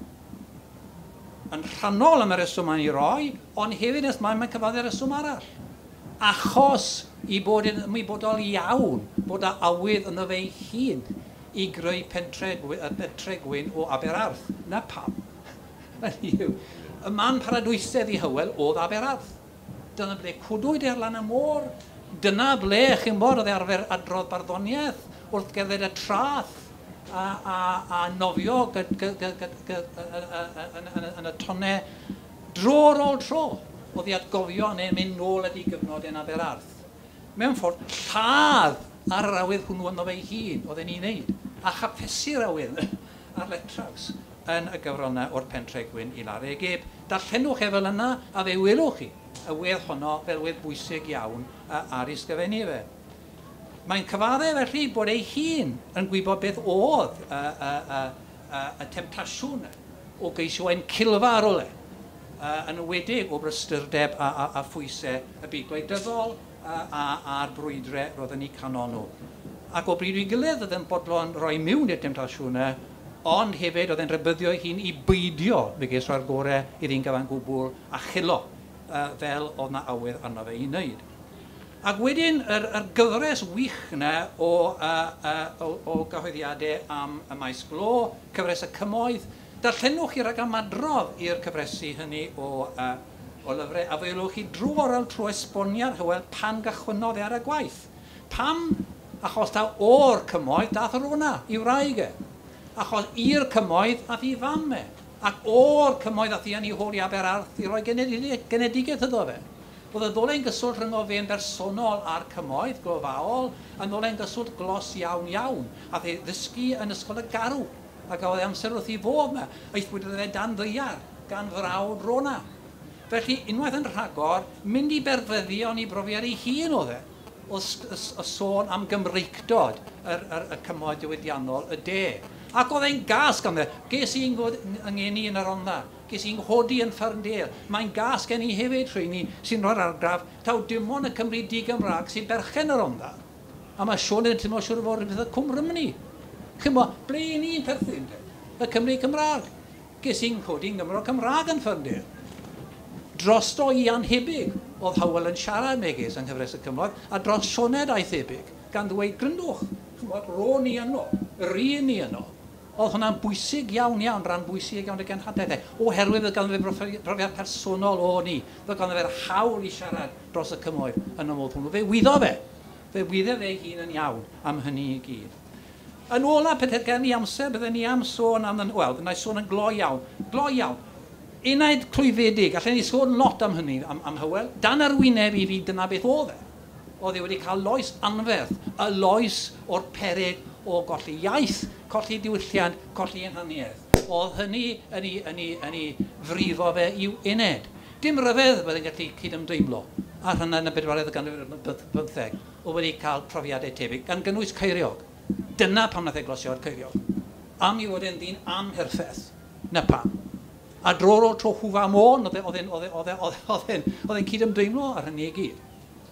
Yn rhannol am y reswm mae'n ei roi, ond hefyd nes mae'n mae'n cyfadde'r reswm arall. Achos i bod yn ymwybodol iawn bod â awydd ynddo fe ei hun i greu pentre, pentre gwyn o Aberarth. Na pam. Y man paradwysedd i Hywel oedd Aberarth. Dyna ble cwdwyd e ar lan y môr. Dyna ble, chi'n bod, oedd e arfer adrodd barddoniaeth wrth gerdded y traeth a, a, a nofio yn y tonnau dro ar ôl tro. Oedd ei atgofio neu mynd nôl at ei gyfnod yn Aberarth. Mewn ffordd, lladd ar yr awydd hwnnw ynddo fe'i hun, oedd e'n ei wneud, a chaphesu'r awydd ar letraws yn y gyfrol yna o'r pentre gwyn i Laregib. Darllenwch e fel yna, a fe welwch chi y wedd honno fel wedd bwysig iawn ar ei sgrifennu fe. Mae'n cyfadde felly bod ei hun yn gwybod beth oedd y, y, y, y, y temtasiwn o geisio encilfa ar ôl e, yn enwedig o brysurdeb a, a, a phwysau y byd gwleidyddol a, a, a'r brwydrau roedd yn eu canol nhw. Ac o bryd i'w gilydd oedd yn bodlon rhoi mewn i'r temtasiwnau, ond hefyd oedd e'n rhybuddio ei hun i beidio fe ges roi'r gorau iddi'n gyfan gwbl a chilo uh, fel oedd na awydd arno fe i wneud. Ac wedyn, yr, yr gyfres wych yna o, uh, uh, o, o gyhoeddiadau am y maes glo, cyfres y cymoedd, darllenwch chi rag ymadrodd i'r cyfresi hynny o, uh, o lyfrau, a fe welwch chi dro ar ôl tro esboniad Hywel pan gychwynnodd e ar y gwaith. Pam Achos ta o'r cymoedd dath Rona i wraig e. Achos i'r cymoedd ath i fam e. Ac o'r cymoedd ath i yn ei hôl i Aberarth i roi genedigaeth iddo fe. Oedd y ddolen gyswllt rhyngo fe'n bersonol a'r cymoedd glofaol yn ddolen gyswllt glos iawn iawn. Ath ei ddysgu yn Ysgol y Garw ac oedd amser wrth ei fodd yma. Aethpwyd iddo fe dan ddaear gan frawd Rona. Felly, unwaith yn rhagor, mynd i berfyddion i brofiad ei hun oedd e. O, o sôn am Gymreictod yr, yr, y cymoedd diwydiannol y de. Ac oedd e'n gas ganddo. Ges i'n yngeni yn y Rhondda. Ges i'n nghodi yn Ferndale. Mae'n gas gen i hefyd rheini sy'n rhoi'r argraff taw dim ond y Cymry di-Gymraeg sy'n berchen y Rhondda. A mae Siôn yn teimlo siŵr o fod rhywbeth y Cwm Rhymni. Chymod, ble i ni'n perthyn? Y Cymry Cymraeg. Ges i'n nghodi yn Gymro Cymraeg yn Ferndale. Drosto i anhebyg oedd Hywel yn siarad megis yng Nghyfres y Cymoedd, a dros Sioned a'i thebyg, gan ddweud, gryndwch, chymod, ro'n ni yno, yr un ni yno. Oedd hwnna'n bwysig iawn iawn, rhan bwysig iawn y genhadaeth e, oherwydd oedd ganddo fe profiad personol o ni, oedd ganddo fe'r hawl i siarad dros y cymoedd yn y modd hwnnw. Fe wyddo fe, fe wyddo fe hun yn iawn am hynny i gyd. Yn ola, pethau gen i amser, bydden ni am sôn am, wel, na i sôn yn gloi iawn, gloi iawn. Enaid clwyfedig, allen ni sôn lot am hynny, am, am Hywel, dan arwyneb i fi dyna beth oedd e. Oedd e wedi cael loes anferth, y loes o'r peryg o golli iaith, colli diwylliant, colli hunaniaeth. Oedd hynny yn ei, yn ei, yn ei frifo fe i'w uned. Dim ryfedd byddai'n gallu cydymdeimlo ar hynna yn y bedwaredd ganrif bymtheg o wedi cael profiadau tebyg, gan gynnwys Ceiriog. Dyna pam nath e glosio ar Ceiriog. Am i fod e'n ddyn amherffeth, na pam. A dro o'r tro Hwfa Môn, oedd e'n oedd e'n cydymdeimlo ar hynny i gyd.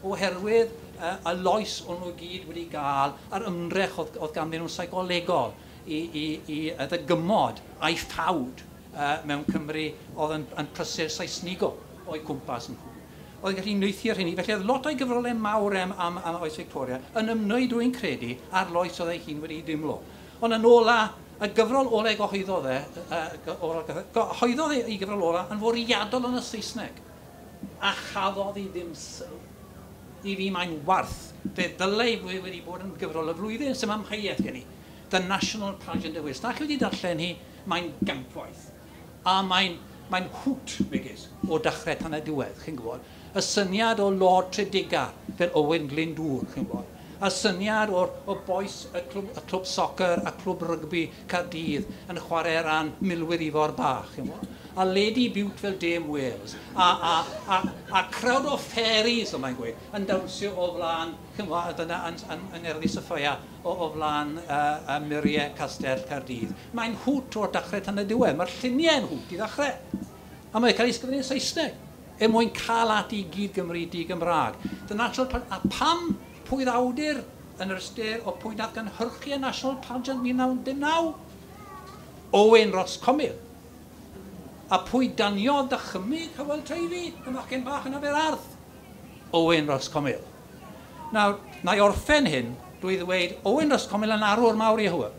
Oherwydd uh, y loes o'n nhw gyd wedi gael a'r ymdrech oedd, oedd ganddyn nhw'n seicolegol i, i, i ddygymod a'i ffawd uh, mewn Cymru oedd yn, yn prysur Saesnigo o'i cwmpas nhw. Oedd yn gallu neuthio ar hynny. Felly oedd lot o'i gyfrolau mawr am, am, am oes Victoria yn ymwneud dwi'n credu a'r loes oedd ei hun wedi dimlo. Ond yn ola, y gyfrol ola ei gyhoeddodd e, gyhoeddodd ei gyfrol ola yn fwriadol yn y Saesneg, a chaddodd i ddim sylw. I fi mae'n warth. Fe ddylai wedi bod yn gyfrol y flwyddyn, sy'n amheuaeth gen i. The National Pageant of Wales. Na chi wedi darllen hi, mae'n gampwaith. A mae'n mae'n hwt, megis, o dechrau tan y diwedd, chi'n gwybod. Y syniad o Lord Tredegar fel Owen Glyndŵr, chi'n gwybod. Y syniad o'r o bois y clwb, y clwb soccer a clwb rygbi Caerdydd yn chwarae ran milwyr Ifor Bach, chi'n gwybod. A Lady Bute fel Dame Wales, a, a, a, a crowd o fairies, o mae'n gweud, yn dawnsio o flaen, chi'n gwybod, dyna yn, yn, yng Ngerddi Sophia, o, o flaen uh, uh, muriau Castell Caerdydd. Mae'n hwt o'r dechrau tan y diwedd, mae'r lluniau yn hwt i ddechrau. A mae'n cael ei ysgrifennu yn Saesneg, er mwyn cael at i gyd Gymru di Gymraeg. The National, a pam pwy awdur yn yr ystyr o pwy nath gynhyrchu y National Pageant mil naw dim naw? Owen Ross Comil. A pwy daniodd dychymyg Hywel Teifi, y machgen bach yn Aberarth? Owen Ross Comil. Nawr, na i orffen hyn drwy ddweud Owen Ross Comil yn arwr mawr i Hywel.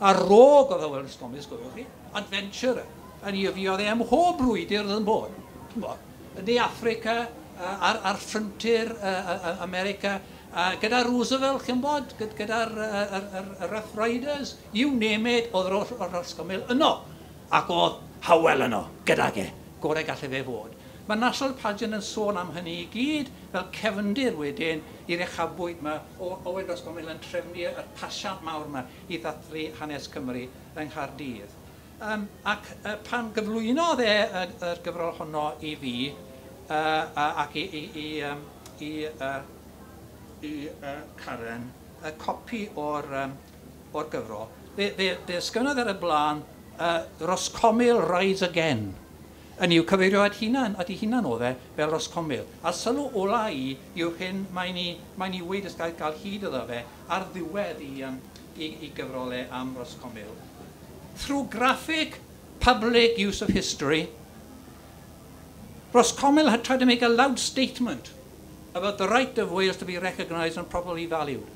A rog oedd Hywel Ross Comil, sgofiwch chi, adventurer, yn i fi oedd e ym mhob brwydr oedd yn bod. Yn De Africa, ar, ar frontier America, gyda Roosevelt, chi'n bod, gyda'r Rough Riders, you name it, oedd Ross Comil yno. Ac oedd Hywel yno, gydag e, gorau gallai fe fod. Mae National Pageant yn sôn am hynny i gyd, fel cefndir wedyn i'r uchafbwynt yma o Owen Ross Comil yn trefnu yr pasiant mawr yma i ddathlu hanes Cymru yng Nghaerdydd. Um, ac uh, pan gyflwynodd e y, yr gyfrol honno i fi, uh, ac i, i, i, um, i, uh, i uh, Karen, y copi o'r, um, o'r gyfrol, fe, fe, fe ysgrifennodd ar y blaen uh, Ross Comil Rides Again. Yn i'w cyfeirio at hunan, at ei hunan oedd e, fel Ross Comil. A sylw ola i yw hyn mae'n i, mae'n i weid ys gael, gael hyd iddo fe ar ddiwedd i, um, i, i gyfrolau am Ross Comil. Through graphic public use of history, Ross Comil had tried to make a loud statement about the right of Wales to be recognised and properly valued.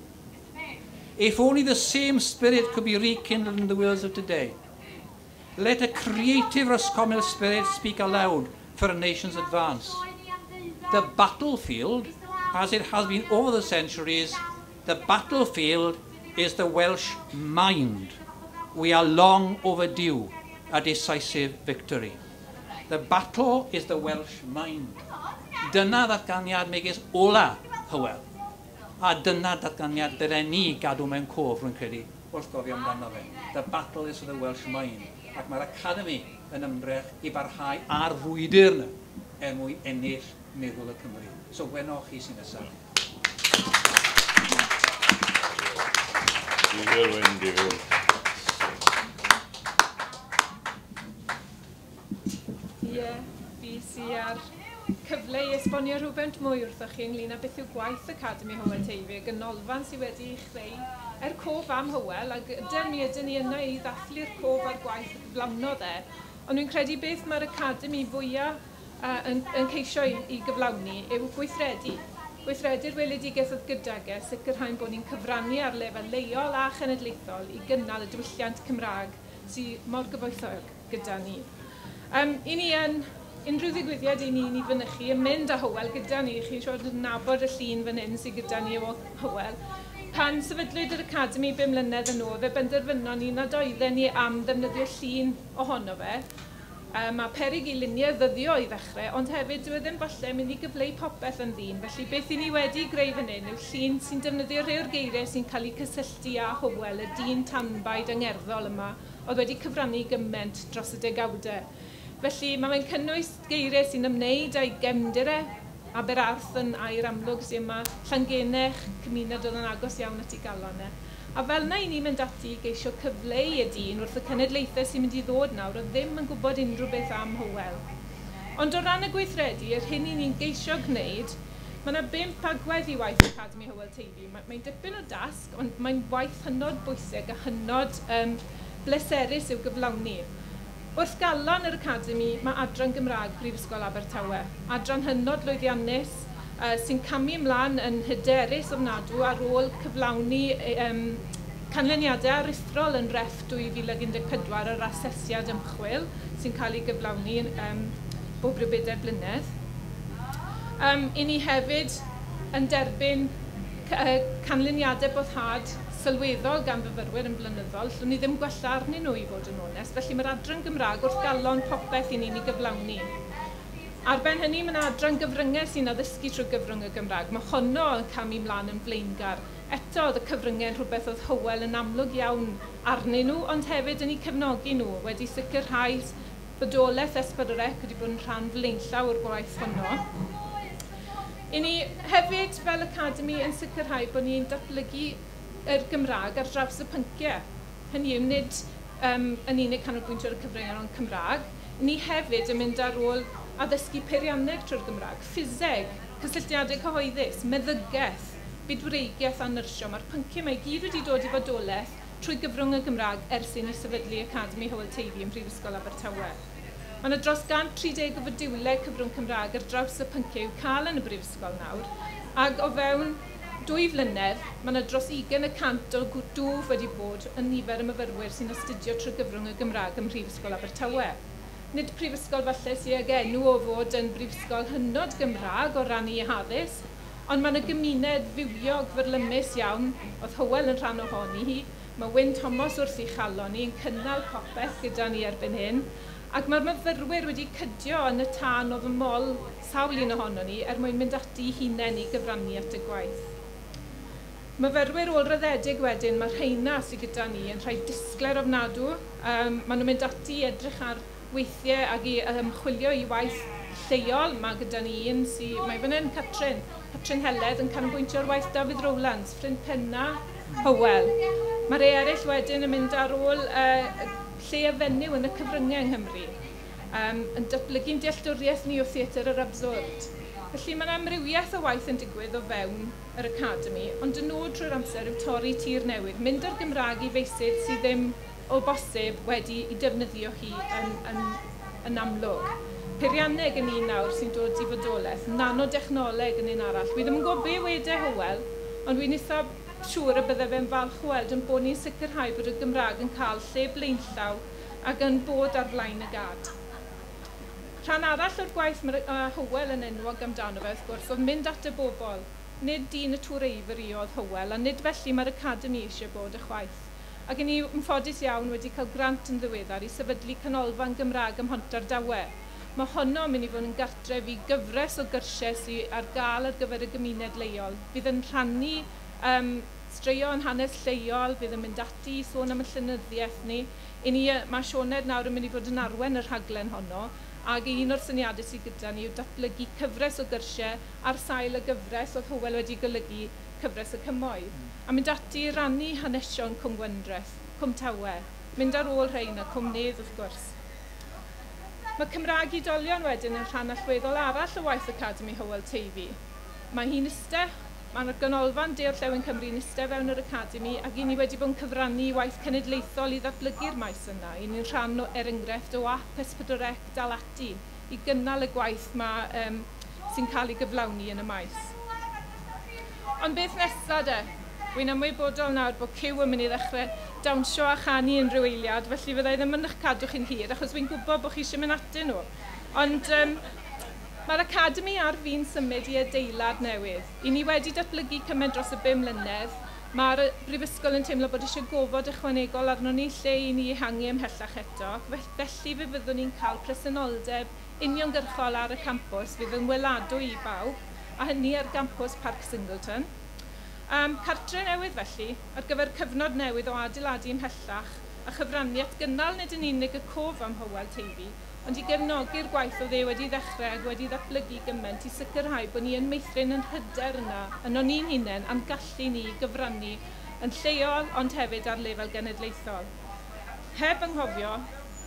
If only the same spirit could be rekindled in the Wales of today. Let a creative Ross Comil spirit speak aloud for a nation's advance. The battlefield, as it has been over the centuries, The battlefield is the Welsh mind. We are long overdue a decisive victory. The battle is the Welsh mind. Dyna ddatganiad megis ola Hywel. A dyna datganiad dylen ni gadw mewn cof, rwy'n credu, wrth gofio amdano fe. The battle is the Welsh mind. Ac mae'r Academi yn ymdrech i barhau ar frwydr yna er mwyn ennill meddwl y Cymru. So, weno chi sy'n nesaf. Difyr, Wyn, difyr. Ie, fi sy ar cyfle i esbonio rhywbeth mwy wrthoch chi ynglyn â beth yw gwaith Academi Hywel Teifi, ganolfan sydd wedi ei chreu er cof am Hywel, ac ydyn mi ydyn ni yna i ddathlu'r cof a'r gwaith y gyflawnodd e. Ond dwi'n credu beth mae'r Academi fwyaf uh, yn, yn ceisio i, i gyflawni yw gweithredu. Gweithredu'r weledigaeth oedd gydag e, sicrhau'n bod ni'n cyfrannu ar lefel leol a chenedlaethol i gynnal y diwylliant Cymraeg sydd mor gyfoethog gyda ni. Um, I ni yn unrhyw ddigwyddiad i ni ni fynychu yn mynd â Hywel gyda ni, chi'n siŵr yn nabod y llun fan hyn sydd gyda ni o Hywel. Pan sefydlwyd yr Academi bum mlynedd yn ôl, fe benderfynon ni nad oedden ni am ddefnyddio llun ohono fe. Um, mae peryg i luniau ddyddio i ddechrau, ond hefyd dyw e ddim falle mynd i gyfleu popeth yn ddyn. Felly beth i ni wedi greu fan hyn yw llun sy'n defnyddio rhai o'r geiriau sy'n cael eu cysylltu â Hywel, y dyn tanbaid angerddol yma, oedd wedi cyfrannu gymaint dros y degawdau. Felly mae fe'n cynnwys geiriau sy'n ymwneud â'i gefndir e, Aberarth yn air amlwg sy'n yma, Llangennech, cymuned oedd yn agos iawn at ei galon e. A fel na i ni'n mynd ati i geisio cyfleu y dyn wrth y cenedlaethau sy'n mynd i ddod nawr oedd ddim yn gwybod unrhyw beth am Hywel. Ond o ran y gweithredu, yr hyn i ni'n geisio gwneud, mae yna bump agwedd i waith Academi Hywel Teifi. Mae'n dipyn o dasg, ond mae'n waith hynod bwysig a hynod um, bleserus i'w gyflawni. Wrth galon yr Academi, mae Adran Gymraeg Prifysgol Abertawe. Adran hynod lwyddiannus uh, sy'n camu ymlaen yn hyderus ofnadw ar ôl cyflawni um, canlyniadau aruthrol yn ref dwy fil ag un deg pedwar yr asesiad ymchwil sy'n cael ei gyflawni um, bob rhyw bedair blynedd. Um, I ni hefyd yn derbyn canlyniadau boddhad sylweddol gan fyfyrwyr yn blynyddol, llwn ni ddim gwella arnyn nhw i fod yn onest, felly mae'r adran Gymraeg wrth galon popeth i ni'n ei gyflawni. Ar ben hynny, mae yna adran gyfryngau sy'n addysgu trwy gyfrwng y Gymraeg. Mae honno yn camu mlaen yn flaengar. Eto, oedd y cyfryngau yn rhywbeth oedd Hywel yn amlwg iawn arnyn nhw, ond hefyd yn eu cefnogi nhw, wedi sicrhau bodolaeth S pedwar C wedi bod yn rhan flaenllaw o'r gwaith honno. I ni hefyd, fel Academi, yn sicrhau bod ni'n datblygu yr Gymraeg ar draws y pynciau. Hynny yw, nid um, yn unig canolbwyntio ar y cyfryngau ond Cymraeg. Ni hefyd yn mynd ar ôl addysgu peirianneg trwy'r Gymraeg, ffiseg, cysylltiadau cyhoeddus, meddygaeth, bydwreigiaeth a nyrsio. Mae'r pynciau yma i gyd wedi dod i fodolaeth trwy gyfrwng y Gymraeg ers i ni sefydlu Academi Hywel Teifi ym Mhrifysgol Abertawe. Mae yna dros gant tri deg o fodiwlau cyfrwng Cymraeg ar draws y pynciau i'w cael yn y Brifysgol nawr, ac o fewn dwy flynedd, mae yna dros ugain y cant o dwf wedi bod yn nifer y myfyrwyr sy'n astudio trwy gyfrwng y Gymraeg ym Mhrifysgol Abertawe. Nid prifysgol falle sydd ag enw o fod yn brifysgol hynod Gymraeg o ran ei haddysg, ond mae yna gymuned fywiog fyrlymus iawn, oedd Hywel yn rhan ohoni hi, mae Wyn Thomas wrth ei chalon ni yn cynnal popeth gyda ni erbyn hyn, ac mae'r myfyrwyr wedi cydio yn y tân oedd y mol sawl un ohono ni er mwyn mynd ati hunain i gyfrannu at y gwaith. Myfyrwyr ôl-raddedig wedyn, mae'r rheina sydd gyda ni yn rhai disglair ofnadw. Um, maen nhw'n mynd ati i edrych ar weithiau ac i ymchwilio i waith lleol. Mae gyda ni un sydd, mae fan hyn Catrin, Catrin Heledd yn canolbwyntio ar waith Dafydd Rowlands, ffrind penna Hywel. Mae rhai eraill wedyn yn mynd ar ôl uh, lle a fenyw yn y cyfryngau yng Nghymru, um, yn datblygu'n dealltwriaeth ni o theatr yr abswrd. Felly mae'n amrywiaeth o waith yn digwydd o fewn yr Academi, ond y nod trwy'r amser yw torri tir newydd, mynd â'r Gymraeg i feysydd sydd ddim o bosib wedi i defnyddio hi yn, yn, yn amlwg. Peirianneg yn un nawr sy'n dod i fodolaeth, nanodechnoleg yn un arall. Wi ddim yn gwybod be wedai Hywel, ond wi'n eitha siŵr y bydde fe'n falch o weld yn bod ni'n sicrhau bod y Gymraeg yn cael lle blaenllaw ac yn bod ar flaen y gad. Rhan arall o'r gwaith mae Hywel yn enwog amdano fe, wrth gwrs, oedd mynd at y bobl. Nid dyn y Tŵr Eiffel oedd Hywel, a nid felly mae'r Academi eisiau bod y chwaith. Ac i ni yn ffodus iawn wedi cael grant yn ddiweddar i sefydlu canolfan Gymraeg ym Mhontardawe. Mae honno yn mynd i fod yn gartref i gyfres o gyrsiau sydd ar gael ar gyfer y gymuned leol. Fydd yn rhannu um, straeon hanes lleol, fydd yn mynd ati i sôn am y llenyddiaeth ni. I ni mae Sioned nawr yn mynd i fod yn arwen y rhaglen honno, ac un o'r syniadau sydd gyda ni yw datblygu cyfres o gyrsiau ar sail y gyfres oedd Hywel wedi golygu cyfres y cymoedd. A mynd ati i rannu hanesion Cwm Gwendraeth, Cwm Tawe, mynd ar ôl rhein a Cwm Nedd wrth gwrs. Mae Cymraeg i Oedolion wedyn yn rhan allweddol arall o waith Academi Hywel Teifi. Mae hi'n iste, mae'r ganolfan De-orllewin Cymru yn iste fewn yr Academi ac i ni wedi bod yn cyfrannu i waith cenedlaethol i ddatblygu'r maes yna. I ni'n rhan o, er enghraifft o app S pedwar C dal ati i gynnal y gwaith ma, um, sy'n cael ei gyflawni yn y maes. Ond beth nesaf de? Wy'n ymwybodol nawr bod Cyw yn mynd i ddechrau dawnsio a chanu unrhyw eiliad, felly fyddai ddim yn eich cadw chi'n hir, achos wy'n gwybod bod chi eisiau mynd atyn nhw. Ond um, mae'r Academi ar fin symud i adeilad newydd. I ni wedi datblygu cymaint dros y bum mlynedd. Mae'r Brifysgol yn teimlo bod eisiau gofod ychwanegol arno ni lle i ni ehangu ymhellach eto. Felly fe fyddwn ni'n cael presenoldeb uniongyrchol ar y campws fydd yn weladwy i bawb, a hynny ar gampws Parc Singleton. Um, cartre newydd felly, ar gyfer cyfnod newydd o adeiladu ymhellach a chyfrannu at gynnal nid yn unig y cof am Hywel Teifi, ond i gefnogi'r gwaith oedd e wedi ddechrau ac wedi ddatblygu gymaint i sicrhau bod ni yn meithrin yn hyder yna, yno ni'n hunain, a'n gallu ni gyfrannu yn lleol ond hefyd ar lefel genedlaethol. Heb anghofio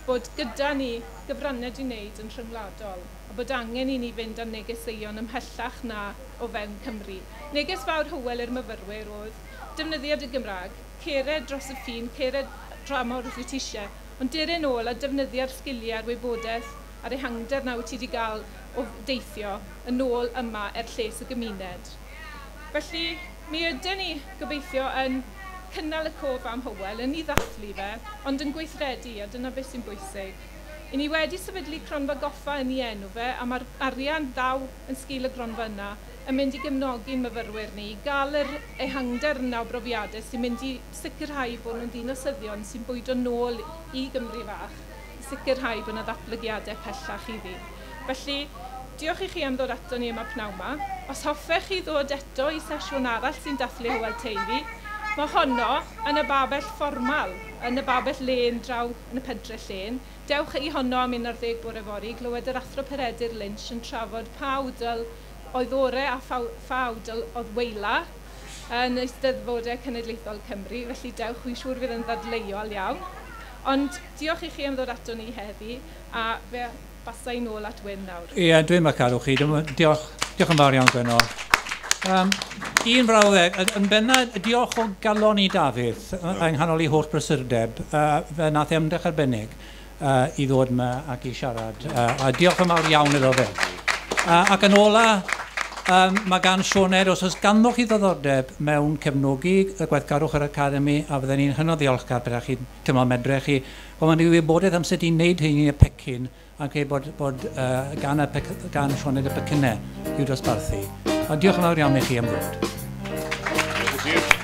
bod gyda ni gyfraniad i wneud yn rhyngwladol a bod angen i ni fynd â negeseuon ymhellach na o fewn Cymru. Neges fawr Hywel i'r myfyrwyr oedd defnyddiad y Gymraeg, cered dros y ffin, cered dramor os wyt ti eisiau, ond dere nôl a defnyddio'r sgiliau a'r wybodaeth a'r ehangder na wyt ti wedi gael o deithio yn ôl yma er lles y gymuned. Felly, mi ydyn ni gobeithio yn cynnal y cof am Hywel, yn ei ddathlu fe, ond yn gweithredu, a dyna beth sy'n bwysig. I ni wedi sefydlu cronfa goffa yn ei enw fe, a mae'r arian ddaw yn sgil y gronfa yna yn mynd i gefnogi'n myfyrwyr ni, i gael yr ehangder yna o brofiadau sy'n mynd i sicrhau bod nhw'n ddinasyddion sy'n bwydo nôl i Gymru fach, i sicrhau bod yna ddatblygiadau pellach iddi. Felly, diolch i chi am ddod ato ni yma pnawn 'ma. Os hoffech chi ddod eto i sesiwn arall sy'n dathlu Hywel Teifi, mae honno yn y babell fformal, yn y babell lên draw yn y pentre llên. Dewch i honno am un ar ddeg bore fory, glywed yr Athro Peredur Lynch yn trafod pa awdl oedd ore a pha awdl oedd weila yn Eisteddfodau Cenedlaethol Cymru, felly dewch, wy'n siŵr fydd yn ddadleuol iawn. Ond diolch i chi am ddod ato ni heddi, a fe basa i nôl at Wyn nawr. Ie, dwi'n mynd cadw chi. Diolch, diolch yn fawr iawn, Gwenno. Um, un frawddeg, yn benna, diolch o galon i Dafydd, yng nghanol i holl brysurdeb, uh, fe nath e ymdrech arbennig uh, i ddod yma ac i siarad. Uh, a diolch yn fawr iawn iddo fe. Uh, ac yn ola, um, mae gan Sioned, os oes ganddo chi ddiddordeb mewn cefnogi y gweithgarwch yr Academi, a fydden ni'n hynod ddiolchgar beth chi'n teimlo medre chi, ond mae'n wybodaeth am sut i wneud hynny y pecyn, ac ei bod, bod uh, gan, y pec, gan Sioned y pecynnau i'w dosbarthu. A diolch yn fawr iawn i chi am ddod. Diolch.